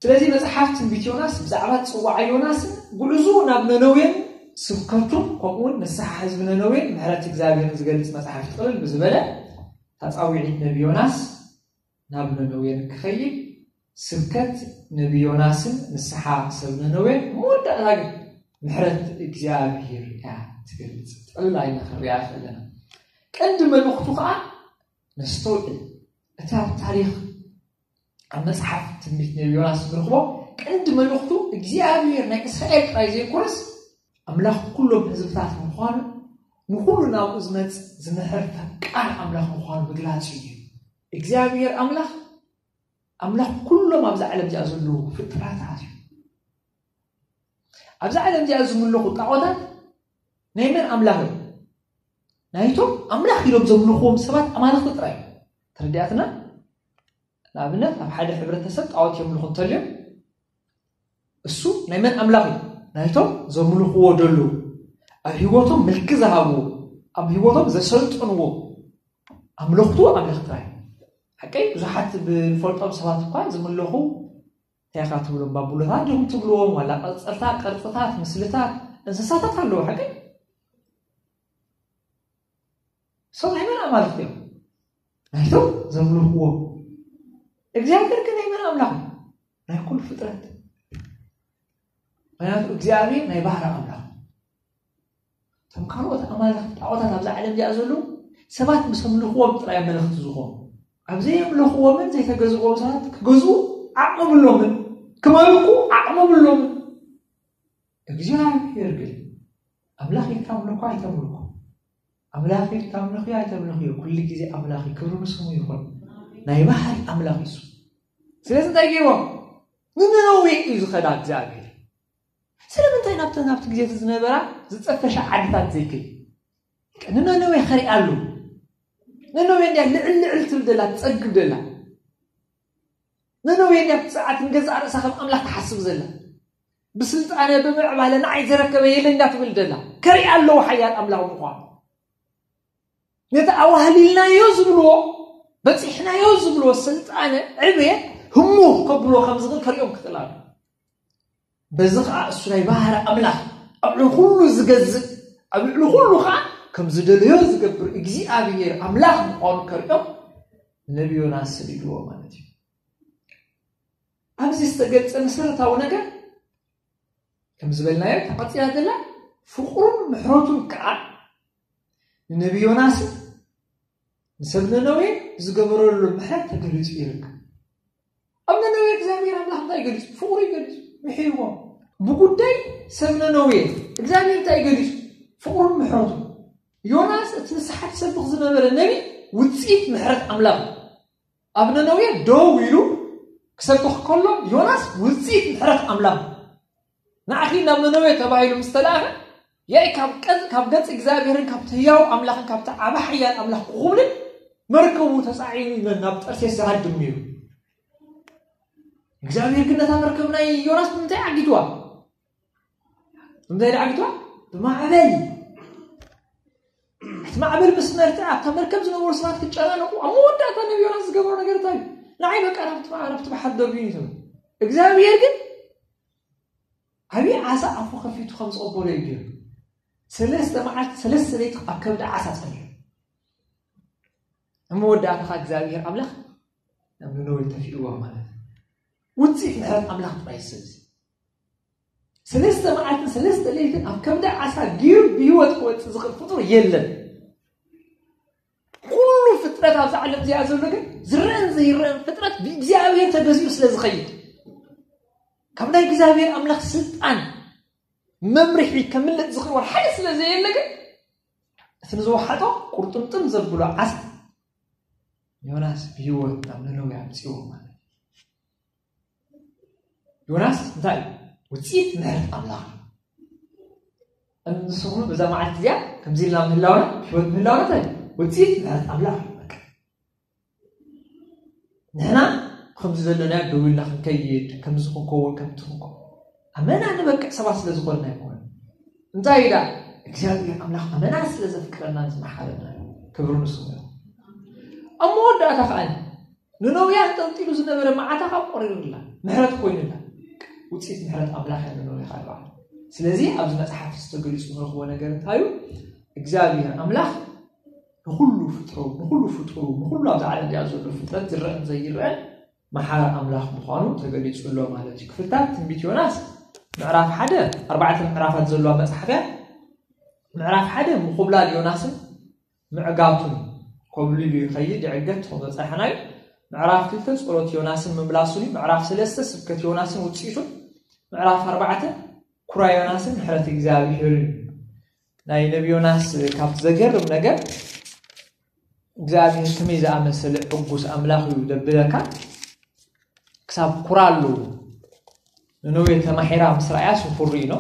ስለዚ መፅሓፍ ትንቢት ዮናስ ብዛዕባ ፅዋዓ ዮናስን ጉዕዙ ናብ ነነዌን ስብከቱን ከምኡውን ንስሓ ህዝቢ ነነዌን ምሕረት እግዚኣብሔርን ዝገልፅ መፅሓፍ ጥቕልል ብዝበለ ታፃዊዒት ነቢ ዮናስ ናብ ነነዌን ክኸይድ ስብከት ነቢ ዮናስን ንስሓ ሰብ ነነዌን መወዳእታ ግን ምሕረት እግዚኣብሔር እያ ትገልፅ። ጥቕልል ኣይና ክንሪኣ ከለና ቀንዲ መልእኽቱ ከዓ ነስተውዕል። እቲ ኣብ ታሪኽ ኣብ መጽሓፍ ትንቢት ነቢ ዮናስ ንረኽቦ ቀንዲ መልእኽቱ እግዚኣብሔር ናይ እስራኤል ጥራይ ዘይኮነስ ኣምላኽ ኩሎም ህዝብታት ምዃኑ ንኹሉ ናብኡ ዝመጽእ ዝምሕር ፈቃር ኣምላኽ ምዃኑ ምግላጽ እዩ። እግዚኣብሔር ኣምላኽ ኣምላኽ ኩሎም ኣብዛ ዓለም እዚኣ ዘለዉ ፍጥረታት እዩ። ኣብዛ ዓለም እዚኣ ዝምለኹ ጣዖታት ናይ መን ኣምላኽ እዮም? ናይቶም ኣምላኽ ኢሎም ዘምልኽዎም ሰባት ኣማልኽቲ ጥራይ እዮም። ተረዲኣትና? ንኣብነት ኣብ ሓደ ሕብረተሰብ ጣዖት የምልኹ እንተልዮም እሱ ናይ መን ኣምላኽ እዩ? ናይቶም ዘምልኽዎ ደለዉ ኣብ ህይወቶም ምልኪ ዝሃብዎ ኣብ ህይወቶም ዘሰልጥንዎ ኣምለኽቱ ኣምላኽ ጥራይ። ሓቀይ ብዙሓት ብንፈልጦም ሰባት እኳ ዝምለኹ እንታይ ኢኻ ትብሎም ባቡሎታት ዲኹም ትብልዎም ዋላ ቅርፅልታት ቅርፅታት ምስልታት እንስሳታት ኣለዉ ሓቀይ ሰብ ናይ መን ኣማልኽቲ እዮም ናይቶም ዘምልኽዎም እግዚኣብሔር ግን ናይ መን ኣምላኽ ናይ ኩሉ ፍጥረት ምክንያቱ እግዚኣብሔር ናይ ባህሪ ኣምላኽ እቶም ካልኦት ኣማልኽቲ ጣዖታት ኣብዛ ዓለም እዚኣ ዘለዉ ሰባት ምስ ኣምልኽዎም ጥራይ መልእኽቲ ዝኾኑ ኣብ ዘየምለኽዎምን ዘይተገዝእዎም ሰባት ክገዝኡ ዓቕሚ ብሎምን ክመልኩ ዓቕሚ ብሎምን እግዚኣብሔር ግን ኣምላኽ ኢልካ ኣምልኮ ኣይተምልኮ ኣምላኽ ኢልካ ኣምልኽዮ ኣይተምልኽዮ ኩሉ ግዜ ኣምላኽ ክብሪ ንስሙ ይኹን ናይ ባህሪ ኣምላኽ እዩ ስለዚ እንታይ ገይርዎም ንነነዌ እዩ ዝኸዳ እግዚኣብሔር ስለምንታይ ናብቲ ናብቲ ግዜ እቲ ዝነበራ ዝፀፈሻ ዓድታት ዘይከይ ንነነዌ ከሪኣ ኣሉ ነነዌ እንዲያ ልዕል ልዕል ትብል ደላ ትፀግብ ደላ ነነዌ እንዲያ ብፅዓት ንገዛእ ርእሳ ከም ኣምላኽ ትሓስብ ዘላ ብስልጣነ ብምዕባለ ንዓይ ዘረከበ የለ እንዳ ትብል ደላ ከሪኣ ኣለዎ ሓያል ኣምላኽ ምዃኑ ነቲ ኣዋህሊልናዮ ዝብልዎ በፂሕናዮ ዝብልዎ ስልጣነ ዕብየት ህሙኽ ከብልዎ ከም ዝኽእል ከሪኦም ክኽእል ኣሎ በዚ ኸዓ እሱ ናይ ባህሪ ኣምላኽ ኣብ ልዕሊ ኩሉ ዝገዝእ ኣብ ልዕሊ ኩሉ ኸዓ ከም ዝደለዮ ዝገብር እግዚኣብሔር ኣምላኽ ምዃኑ ከሪኦም ነቢ ዮናስ ሰዲድዎ ማለት እዩ ኣብዚ ዝተገልፀ መሰረታዊ ነገር ከም ዝበልናዮ ተቐፂላ ዘላ ፍቕሩን ምሕረቱን ከዓ ንነቢ ዮናስን ንሰብ ነነዌ ዝገበረሉ ምሕረት ተገሊፁ ይርከብ ኣብ ነነዌ እግዚኣብሔር ኣምላኽ እንታይ ገሊፁ ፍቕሩ ይገሊፁ ምሕይዎም ብጉዳይ ሰብ ነነዌ እግዚኣብሔር እንታይ ገሊፁ ፍቕሩን ምሕረቱ ዮናስ እቲ ንስሓት ሰብኽ ዝነበረ ነቢ ውፅኢት ምሕረት ኣምላኽ ኣብ ነነዌ ደው ኢሉ ክሰብኽ ከሎ ዮናስ ውፅኢት ምሕረት ኣምላኽ ንዓኺ ናብ ነነዌ ተባሂሉ ምስ ተላእኸ ያኢ ካብ ቀ- ካብ ገጽ እግዚኣብሔርን ካብቲ ህያው ኣምላኽን ካብቲ ዓቢ ሓያል ኣምላኽ ክኹብልን መርከቡ ተጻዒኑ ናብ ጠርሴስ ዝሃድም ነይሩ። እግዚኣብሔር ግን ነታ መርከብ ናይ ዮናስ ብምንታይ ዓጊትዋ? ብምንታይ ዓጊትዋ? ብማዕበል። እቲ ማዕበል ምስ መርትዐ ኣብታ መርከብ ዝነበሩ ሰባት ክጨናነቁ፣ ኣብ መወዳእታ ነቢ ዮናስ ዝገበሮ ነገር እንታይ እዩ? ንዓይ በቃ ናብቲ ባ- ናብቲ ባሕሪ ደርብዩ እዩ ትብል። እግዚኣብሔር ግን ዓብዪ ዓሳ ኣፉ ከፊቱ ከም ዝቐበሎ እዩ ገይሩ። ሰለስተ መዓልቲ ሰለስተ ለይቲ ኣብ ከብዲ ዓሳ ጸኒሑ። ኣብ መወዳእታ ከዓ እግዚኣብሔር ኣምላኽ ናብ ነነዌ ተፊእዋ ማለት እዩ። ውፅኢት ምሕረት ኣምላኽ ጥራይ እዩ። ስለዚ ሰለስተ መዓልትን ሰለስተ ለይትን ኣብ ከብዲ ዓሳ ገይሩ ብህይወት ክወፅእ ዝኽእል ፍጡር የለን። ኩሉ ፍጥረት ኣብዛ ዓለም እዚኣ ዘሎ ግን ዝረአን ዘይረአን ፍጥረት ብእግዚኣብሔር ተገዚኡ ስለ ዝኸይድ ካብ ናይ እግዚኣብሔር ኣምላኽ ስልጣን መምርሒ ከምልጥ ዝኽእል ሓደ ስለ ዘየለ ግን እቲ ንዝወሓጦ ቁርጥምጥም ዘብሎ ዓሳ ዮናስ ብህይወት ናብ ነነዌ ኣምፅዎ ማለት እዩ። ዮናስ እንታይ እዩ? ውፅኢት ምሕረት ኣምላኽ እዩ። ንስኹም በዛ መዓልቲ እዚኣ ከምዚ ኢልና ምህላውና ብህይወት ምህላውና እንታይ እዩ? ውፅኢት ምሕረት ኣምላኽ እዩ። በቃ ንሕና ከምዚ ዘለና ደው ኢልና ክንከይድ ከምዚ ክንከውን ከምቲ ክንከውን ኣመና ንበቅዕ ሰባት ስለ ዝኾንና ኣይኮነ። እንታይ ኢላ እግዚኣብሔር ኣምላኽ ኣመና ስለ ዘፍቅረና ዝመሓረና እዩ። ክብሪ ንስሙ ይኹን። ኣብ መወዳእታ ከዓ ንነውያ ተንጠልጢሉ ዝነበረ መዓታ ካብ ቆሪሩላ ምሕረት ኮይኑላ። ውፅኢት ምሕረት ኣምላኽ እያ ንነውያ ካልባል። ስለዚ ኣብዚ መፅሓፍ ዝተገሊፁ ንረኽቦ ነገር እንታይ እዩ? እግዚኣብሔር ኣምላኽ ንኹሉ ፍጥሮ ንኹሉ ፍጥሩ ንኹሉ ኣብዚ ዓለም እዚኣ ዘሎ ፍጥረት ዝረአን ዘይረአን መሓሪ ኣምላኽ ምዃኑ ተገሊፁ ኣሎ ማለት እዩ። ክፍልታት ትንቢት ዮናስ ምዕራፍ ሓደ ኣርባዕተ ምዕራፋት ዘለዋ መፅሓፍ እያ። ምዕራፍ ሓደ ምኹብላል ዮናስን ምዕጋቱን ኮብሊሉ ይኸይድ ይዕገት ተኾ መፅሓና እዩ። ምዕራፍ ክልተ ፀሎት ዮናስን ምምላሱን እዩ። ምዕራፍ ሰለስተ ስብከት ዮናስን ውፅኢቱን። ምዕራፍ ኣርባዕተ ኩራ ዮናስን ምሕረት እግዚኣብሔር እዩ። ናይ ነቢ ዮናስ ካብቲ ዘገርም ነገር እግዚኣብሔር ከመይ ዝኣመሰለ ዕጉስ ኣምላኽ እዩ ደብለካ ክሳብ ኩራ ኣለዎ። ንነዌ ተማሒራ ምስ ረኣያ ስፉሪ ኢሎ።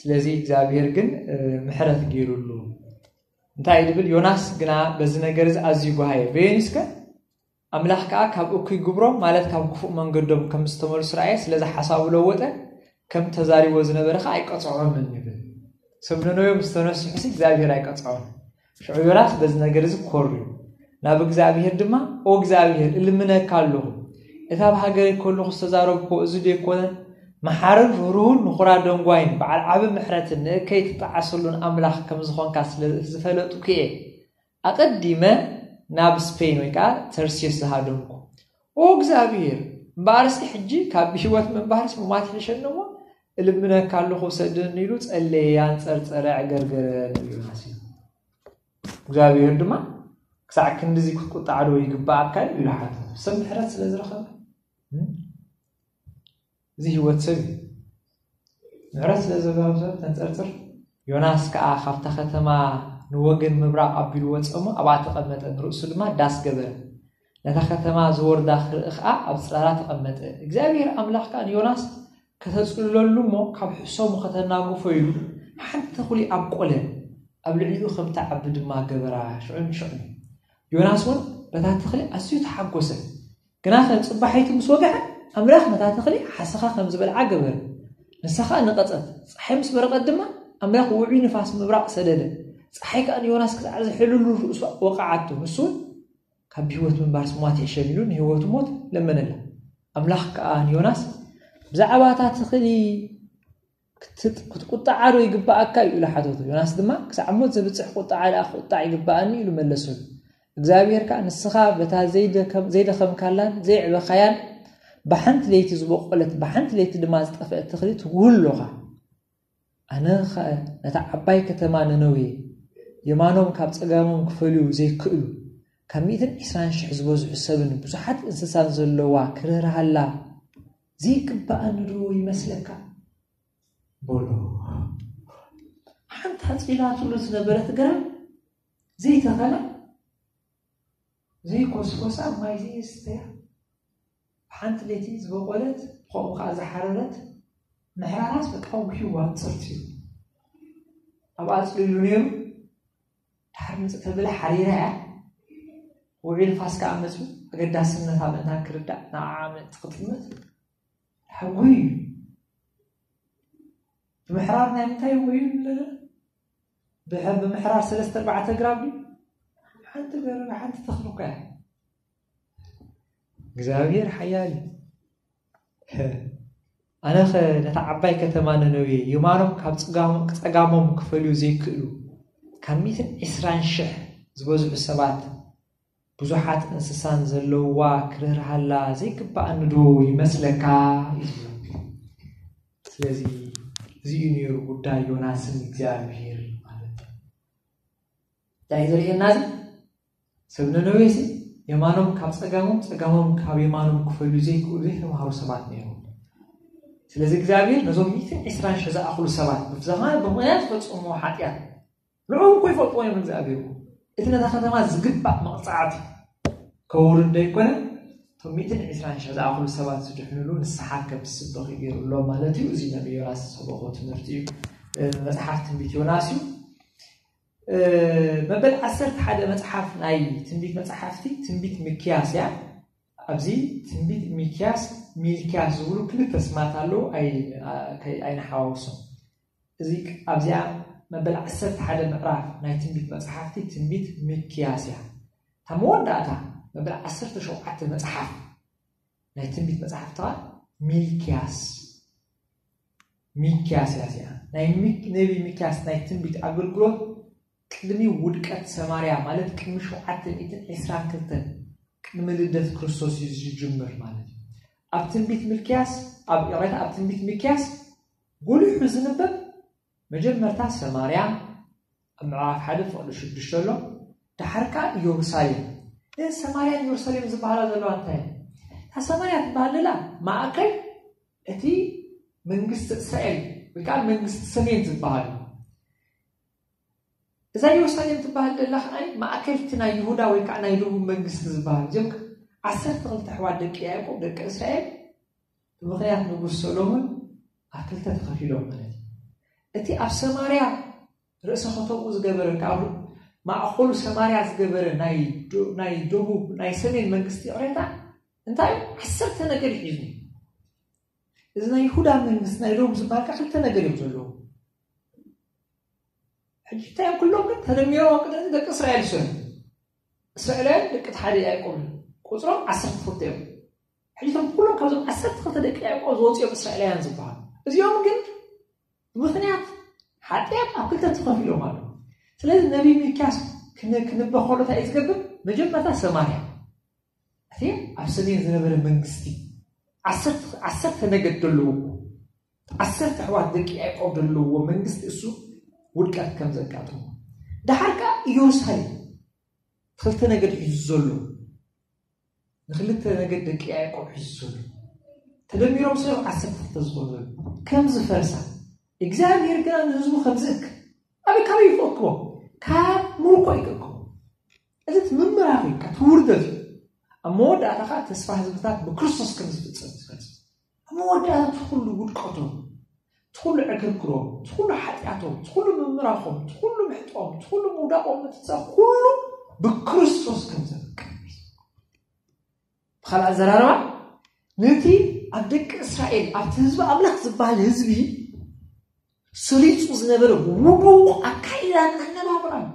ስለዚ እግዚኣብሔር ግን ምሕረት ገይሩሉ እንታይ ድብል ዮናስ ግና በዚ ነገር እዚ ኣዝዩ ጓሃየ በየኒስከ ኣምላኽ ከኣ ካብ እኩይ ግብሮም ማለት ካብ ክፉእ መንገዶም ከም ዝተመልሱ ረኣየ ስለዚ ሓሳቡ ለወጠ። ከም ተዛሪቦ ዝነበረ ከኣ ኣይቀጽዖምን ይብል። ሰብ ነነዌ ምስ ተነስሑሲ እግዚኣብሔር ኣይቀጽዖም። ሽዑ ዮናስ በዚ ነገር እዚ ኮርዩ ናብ እግዚኣብሔር ድማ ኦ እግዚኣብሔር እልምነካ ኣለኹ እታ ኣብ ሃገረይ ከለኹ ዝተዛረብኮ እዚ ዶ ይኮነን? መሓርን ርህሩህን ንኹራ ደንጓይን በዓል ዓቢ ምሕረትን ንእከይ ትጠዓሰሉን ኣምላኽ ከም ዝኾንካ ስለ ዝፈለጥኩ እየ ኣቐዲመ ናብ ስፔን ወይ ከዓ ተርሴስ ዝሃደምኩ። ኦ እግዚኣብሔር እምበኣርሲ ሕጂ ካብ ብህይወት ምንባርሲ ሙማት ይሕሸኒ እሞ እልምነካ ኣለኹ ሰድኒ ኢሉ ጸለየ፣ ኣንጸርጸረ፣ ኣዕገርገረ ንዮናስ እዩ። እግዚኣብሔር ድማ ክሳዕ ክንድዚ ክትቁጣዕ ዶ ይግባኣካ እዩ ኢሉ ሓተተ። ሰብ ምሕረት ስለ ዝረኸበ እዚ ህይወት ሰብ እዩ። ምሕረት ስለ ዘጋብዘ ተንጸርጽር። ዮናስ ከኣ ካብታ ከተማ ንወገን ምብራቕ ኣቢሉ ወጸ እሞ ኣብኣ ተቐመጠ፣ ንርእሱ ድማ ዳስ ገበረ። ነታ ከተማ ዝወርዳ ክርኢ ኸኣ ኣብ ጽላላ ተቐመጠ። እግዚኣብሔር ኣምላኽ ከኣ ንዮናስ ከተጽልለሉ እሞ ካብ ሕሰሙ ከተናግፎ ኢሉ ሓንቲ ተኹሊ ኣብቆለ፣ ኣብ ልዕሊኡ ከም ትዓቢ ድማ ገበራ። ሽዑ ንሽዑ ዮናስ እውን በታ ተኽሊ ኣዝዩ ተሓጎሰ። ግናኸ ጽባሒቱ ምስ ወግሐ ኣምላኽ ነታ ተኽሊ ሓሰኻ ከም ዝበልዓ ገበረ። ንሳ ኸኣ ነቐጸት። ጸሓይ ምስ በረቐት ድማ ኣምላኽ ውዑይ ንፋስ ምብራቕ ሰደደ። ጸሓይ ከኣ ንዮናስ ክሳዕ ዝሕልሉ ርእሱ ወቕዓቶ። ንሱ እውን ካብ ብህይወት ምንባርስ ሞት ይሕሸኒ ኢሉ ንህይወቱ ሞት ለመነላ። ኣምላኽ ከኣ ንዮናስ ብዛዕባ እታ ተኽሊ ክትቁጣዓ ዶ ይግባኣካ እዩ ኢሉ ሓተቶ። ዮናስ ድማ ክሳዕ ሞት ዘብጽሕ ቁጣዓ ደኣ ክቁጣዕ ይግባኣኒ ኢሉ መለሰሉ። እግዚኣብሔር ከኣ ንስኻ በታ ዘይደኸምካላን ዘይዕበኻያን ብሓንቲ ለይቲ ዝበቆለት ብሓንቲ ለይቲ ድማ ዝጠፍአት ተኽሊ ትጉህ ኣሎኻ። ኣነ ኸ ነታ ዓባይ ከተማ ነነዌ የማኖም ካብ ጸጋሞም ክፈልዩ ዘይክእሉ ካብ ሚእትን ዕስራን ሽሕ ዝበዝሑ ሰብን ብዙሓት እንስሳን ዘለዋ ክርህርሃላ ዘይግባኣኒ ዶ ይመስለካ? በሎ። ሓንቲ ኣጽሊላትሉ ዝነበረት ግራም ዘይተኸላ ዘይኮስኮሳ ማይ ዘየስተያ ብሓንቲ ለይቲ ዝበቆለት ከምኡ ከዓ ዝሓረረት ምሕራራስ በቃ ውሕዩ ዋንፅርቲ እዩ። ኣብኣ ጽሊሉ ነይሩ። ድሓር ምጽእ ተብለ ሓሪራ እያ። ውዒል ንፋስ ከኣ መጽዩ ኣገዳስነታ ምእንታን ክርዳእ ንዓዓ ምእንቲ ክጥምት ሓጉይ እዩ። ብምሕራር ናይ ምንታይ ውዒል ኣለና? ብሐ-፣ ብምሕራር ሰለስተ ኣርባዕተ ግራብ ድዩ? ሓንቲ ገረብ፣ ሓንቲ ተኽሊ እኳ እያ። እግዚኣብሔር ሓያል እዩ። ኣነኸ ነታ ዓባይ ከተማ ነነዌ የማኖም ካብ ጸጋሞ-፣ ጸጋሞም ክፈልዩ ዘይክእሉ ካብ ሚእትን ዕስራን ሽሕ ዝበዝሑ ሰባት ብዙሓት እንስሳን ዘለውዋ ክርህርሃላ ዘይግባኣኒ ዶ ይመስለካ? እዩ ዝብሎ። ስለዚ እዚ እዩ ነይሩ ጉዳይ ዮናስን እግዚኣብሔር ማለት እዩ። እንታይ እዩ ዘርእየና እዚ? ሰብ ነነዌ ሲ የማኖም ካብ ጸጋሞም፣ ጸጋሞም ካብ የማኖም ክፈልዩ ዘይክእሉ ዘይተማሃሩ ሰባት ነይሮም። ስለዚ እግዚኣብሔር ነዞም ሚእትን ዕስራን ሽሕ ዝኣኽሉ ሰባት ብፍዛኻ ብምኽንያት ዝፈጸምዎ ሓጢኣት ንዕኦም እኮ ይፈልጥዎ እዮም እግዚኣብሔር እኮ። እቲ ነታ ከተማ ዝግባእ መቕጻዕቲ ከውርድ ዘይኮነ፣ እቶም ሚእትን ዕስራን ሽሕ ዝኣኽሉ ሰባት ዝድሕንሉ ንስሓ ከም ዝስበኽ እዩ ገይሩ ኣሎ ማለት እዩ። እዚ ነቢ ዮናስ ዝሰበኾ ትምህርቲ እዩ። እ፣ መጽሓፍ ትንቢት ዮናስ እዩ። እ፣ መበል ዓሰርተ ሓደ መጽሓፍ ናይ ትንቢት መጽሓፍቲ ትንቢት ሚክያስ እያ። ኣብዚ ትንቢት ሚክያስ፣ ሚልክያስ ዝብሉ ክልተ ስማት ኣለዉ። ኣይ-፣ ኣ-፣ ከይ-፣ ኣይንሓዋውሶም። እዚ ኣብዚኣ መበል ዓሰርተ ሓደ ምዕራፍ ናይ ትንቢት መጽሓፍቲ ትንቢት ሚክያስ እያ። እታ መወዳእታ መበል ዓሰርተ ሸውዓተ መጽሓፍ ናይ ትንቢት መጽሓፍቲ ኸኣ ሚልክያስ፣ ሚክያስ እያ እዚኣ። ናይ ሚክ-፣ ነቢ ሚክያስ ናይ ትንቢት ኣገልግሎት ቅድሚ ውድቀት ሰማርያ፣ ማለት ቅድሚ ሸውዓተ ሚእትን ዕስራን ክልተን ቅድሚ ልደት ክርስቶስ እዩ ዝጅምር ማለት እዩ። ኣብ ትንቢት ሚልክያስ፣ ኣብ፣ ይቕሬታ፣ ኣብ ትንቢት ሚክያስ ጎሊሑ ዝንበብ መጀመርታ ሰማርያ፣ ኣብ ምዕራፍ ሓደ ፍቕዲ ሽዱሽተ ኣሎ። ደሓር ከኣ ኢየሩሳሌም። እዘን ሰማርያን ኢየሩሳሌም ዝበሃላ ዘለዋ እንታይ እየን? እታ ሰማርያ ትበሃል ዘላ ማእከል እቲ መንግስቲ እስራኤል ወይ ከዓ መንግስቲ ሰሜን ዝበሃል እዩ። እዛ ኢየሩሳሌም ትበሃል ዘላ ከዓ ማእከል እቲ ናይ ይሁዳ ወይ ከዓ ናይ ደቡብ መንግስቲ ዝበሃል። እዚኦም ዓሰርተ ክልተ ኣሕዋት ደቂ ያዕቆብ፣ ደቂ እስራኤል፣ ብምኽንያት ንጉስ ሰሎሞን ኣብ ክልተ ተኸፊሎም ማለት እዩ። እቲ ኣብ ሰማርያ ርእሰ ከተምኡ ዝገበረ፣ ካብ ማእኸሉ ሰማርያ ዝገበረ ናይ ዶ-፣ ናይ ደቡብ፣ ናይ ሰሜን መንግስቲ፣ ይቕሬታ፣ እንታይ እዩ? ዓሰርተ ነገድ ሒዙ። እዚ ናይ ይሁዳ መንግስቲ፣ ናይ ደቡብ ዝበሃል ከዓ ክልተ ነገድ እዮም ዘለዉ። ሕጂ እንታይ እዮም? ኩሎም ግን ተደሚሮም ኣብ ቅድሚ ደቂ እስራኤል ይሰኑ። እስራኤላውያን ደቂ እቲ ሓደ ያዕቆብ እዮም። ቁጽሮም ዓሰርተ ክልተ እዮም። ሕጂ እቶም ኩሎም ካብዞም ዓሰርተ ክልተ ደቂ ያዕቆብ ዝወፁ እዮም እስራኤላውያን ዝበሃሉ። እዚኦም ግን ብምኽንያት ሓጢኣት ኣብ ክልተ ተኸፊሎም ኣለዉ። ስለዚ ነቢይ ሚልክያስ ክን-፣ ክንበ ከሎ እንታይ እዩ ዝገብር? መጀመርታ ሰማርያ፣ እቲ ኣብ ሰሜን ዝነበረ መንግስቲ፣ ዓሰርተ፣ ዓሰርተ ነገድ ዘለዎ፣ ዓሰርተ ኣሕዋት ደቂ ያዕቆብ ዘለዎ መንግስቲ እሱ ውድቀት ከም ዘጋጥሞ፣ ደሓር ከኣ ኢየሩሳሌም ክልተ ነገድ ሒዙ ዘሎ፣ ንክልተ ነገድ ደቂ ያዕቆብ ሒዙ ዘሎ፣ ተደሚሮም ሰብ ዓሰርተ ክልተ ዝኾኑ ዘሎ፣ ከም ዝፈርሳ፣ እግዚኣብሔር ግና ንህዝቡ ከም ዝእክ፣ ኣበይ፣ ካበይ እዩ ክእክቦ? ካብ ምርኮ እዩ ክእክቦ። እዚ እቲ ምምራኽ እዩ፣ እቲ ውርደት እዩ። ኣብ መወዳእታ ኸዓ ተስፋ ህዝብታት ብክርስቶስ ከም ዝፍጸም ዝገልጽ። ኣብ መወዳእታ እቲ ኩሉ ውድቀቶም፣ እቲ ኩሉ ዕግርግሮም፣ እቲ ኩሉ ሓጢኣቶም፣ እቲ ኩሉ ምምራኾም፣ እቲ ኩሉ ምሕጦም፣ እቲ ኩሉ ምውዳቖም፣ እቲ ሰብ ኩሉ ብክርስቶስ ከም ዘበቅዕ እዩ። ብኻልእ ኣዘራርባ፣ ነቲ ኣብ ደቂ እስራኤል፣ ኣብቲ ህዝቢ ኣምላኽ ዝበሃል ህዝቢ ሰሪጹ ዝነበረ ውዱቕ ኣካይዳን ኣነባብራን፣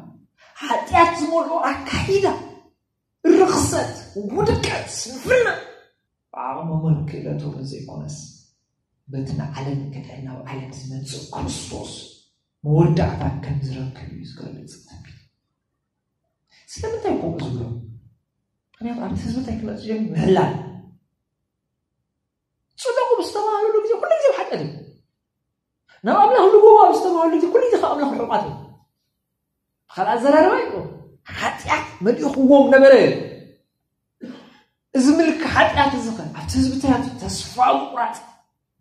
ሓጢኣት ዝመልኦ ኣካይዳ፣ ርኽሰት፣ ውድቀት፣ ስንፍና፣ ብዓቕሞምን ክእለቶምን ዘይኮነስ፣ በቲ ንዓለም ክድሕን ናብ ዓለም ዝመጽእ ክርስቶስ መወዳእታ ከም ዝረክብ እዩ ዝገልጽ ትንቢት። ስለምንታይ ከምኡ ዝብሎ? ምኽንያቱ ኣብቲ ህዝቢ እንታይ ክመጽእ ጀሚሩ? ምሕላል። ጽደቁ ብዝተባሃለሉ ግዜ ኩሉ ግዜ ብሓጢኣት እዩ። ናብ ኣምላኽ ልግቡ ኣብ ዝተባሃለሉ ግዜ ኩሉ ግዜ ካብ ኣምላኽ ርሑቓት እዩ። ብኻልእ ኣዘራርባ እዩ፣ ሓጢኣት መሊእኽዎም ነበረ። እዚ ምልክ ሓጢኣት እዚ ኸ ኣብቲ ህዝቢ እንታይ ኣምፅኡ? ተስፋ ምቑራፅ፣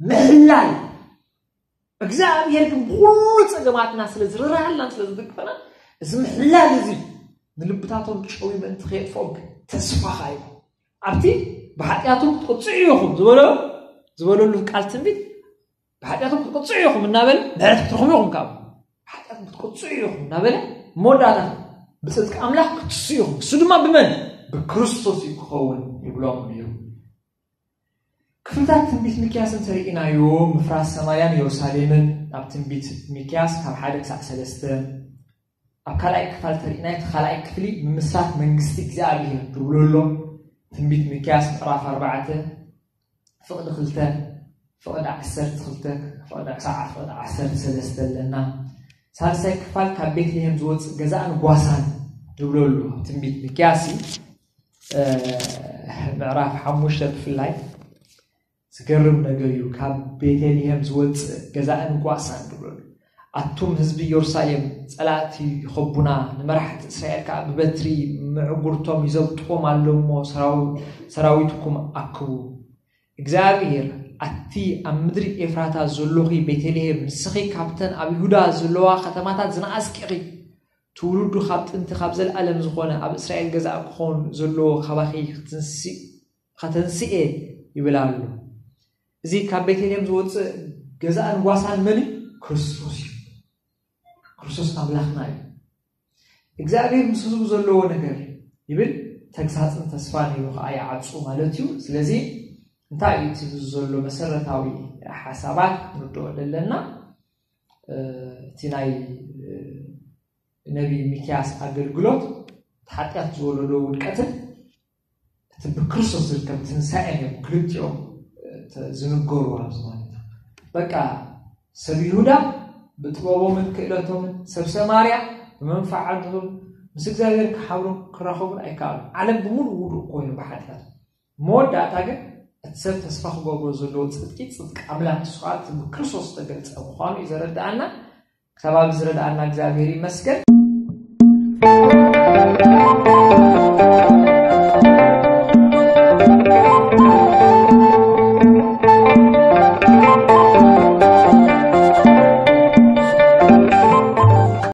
ምሕላል። እግዚኣብሔር ግን ብኹሉ ጸገማትና ስለ ዝርህራሃልናን ስለ ዝድግፈና፣ እዚ ምሕላል እዚ ንልብታቶም ጨዊ ምእንቲ ከየጥፍኦም ግን ተስፋ ኻይቡ። ኣብቲ ብሓጢኣቶም ክትቅጽዑ ኢኹም ዝበሎ፣ ዝበለሉ ቃል ትንቢት፣ ብሓጢኣቶም ክትቅጽዑ ኢኹም እናበለ ምሕረት ክትረኽቡ ኢኹም ካብኡ። ብሓጢኣት ክትቅፅዑ ኢኹም እናበለ፣ መወዳእታ ብፅድቂ ኣምላኽ ክትስኡ ኢኹም። እሱ ድማ ብመን? ብክርስቶስ እዩ ክኸውን ይብሎም እዩ። ክፍልታት ትንቢት ሚክያስ እንተርኢናዮ፣ ምፍራስ ሰማርያን ኢየሩሳሌምን ኣብ ትንቢት ሚክያስ ካብ ሓደ ክሳብ ሰለስተ፣ ኣብ ካልኣይ ክፋል ተርኢናዮ፣ እቲ ካልኣይ ክፍሊ ምምስራት መንግስቲ እግዚኣብሔር ዝብሎ ኣሎ። ትንቢት ሚክያስ ምዕራፍ ኣርባዕተ ፍቕዲ ክልተ፣ ፍቕዲ ዓሰርተ ክልተ፣ ፍቕዲ ክሳዕ ፍቕዲ ዓሰርተ ሰለስተ ኣለና። ሳልሳይ ክፋል ካብ ቤትልሔም ዝወፅእ ገዛእን ጓሳን ዝብሎ ኣሎ። ትንቢት ሚክያስ ምዕራፍ ሓሙሽተ ብፍላይ ዝገርም ነገር እዩ። ካብ ቤተልሔም ዝወፅእ ገዛእን ጓሳን ዝብሎ ኣሎ። ኣቱም ህዝቢ ኢየሩሳሌም፣ ጸላእቲ ይኸቡና፣ ንመራሕቲ እስራኤል ከኣ ብበትሪ ምዕጉርቶም ይዘብጥዎም ኣሎ እሞ ሰራዊ-፣ ሰራዊትኩም ኣክቡ። እግዚኣብሔር፣ ኣቲ ኣብ ምድሪ ኤፍራታ ዘሎኺ ቤተልሔም፣ ንስኺ ካብተን ኣብ ይሁዳ ዘለዋ ከተማታት ዝነኣስኪ ኢኺ። ትውልዱ ካብ ጥንቲ ካብ ዘለኣለም ዝኾነ ኣብ እስራኤል ገዛእ ክኾን ዘለዎ ካባኺ ክትንስእ ከተንስኤ ይብል ኣሎ። እዚ ካብ ቤተልሔም ዝወፅእ ገዛእን ጓሳን መን እዩ? ክርስቶስ እዩ። ክርስቶስ ኣምላኽና እዩ። እግዚኣብሔር ምስ ህዝቡ ዘለዎ ነገር ይብል፣ ተግሳፅን ተስፋን ኢሉ ከዓ ይዓፁ ማለት እዩ። ስለዚ እንታይ እዩ እቲ ዘሎ መሰረታዊ ሓሳባት ክንርድኦ ዘለና? እቲ ናይ ነቢይ ሚክያስ ኣገልግሎት፣ እቲ ሓጢኣት ዝወለዶ ውድቀትን እቲ ብክርስቶስ ዝርከብ ትንሳኤን እዮም ክልቲኦም ዝንገሩ ኣብዚ ማለት እዩ። በቃ ሰብ ይሁዳ ብጥበቦምን ክእለቶምን ሰብ ሰማርያ ብመንፈዓቶም ምስ እግዚኣብሔር ክሓብሩን ክራኸቡን ኣይከኣሉን። ዓለም ብምሉእ ውዱእ ኮይኑ ብሓጢኣት። መወዳእታ ግን እቲ ሰብ ተስፋ ክገብሮ ዘለዎ ጽድቂ፣ ጽድቂ ኣምላኽ ንሱ ከዓ እቲ ብክርስቶስ ዝተገልጸ ምዃኑ እዩ ዘረድኣና። ክሳብ ኣብዚ ዝረድኣና እግዚኣብሔር ይመስገን።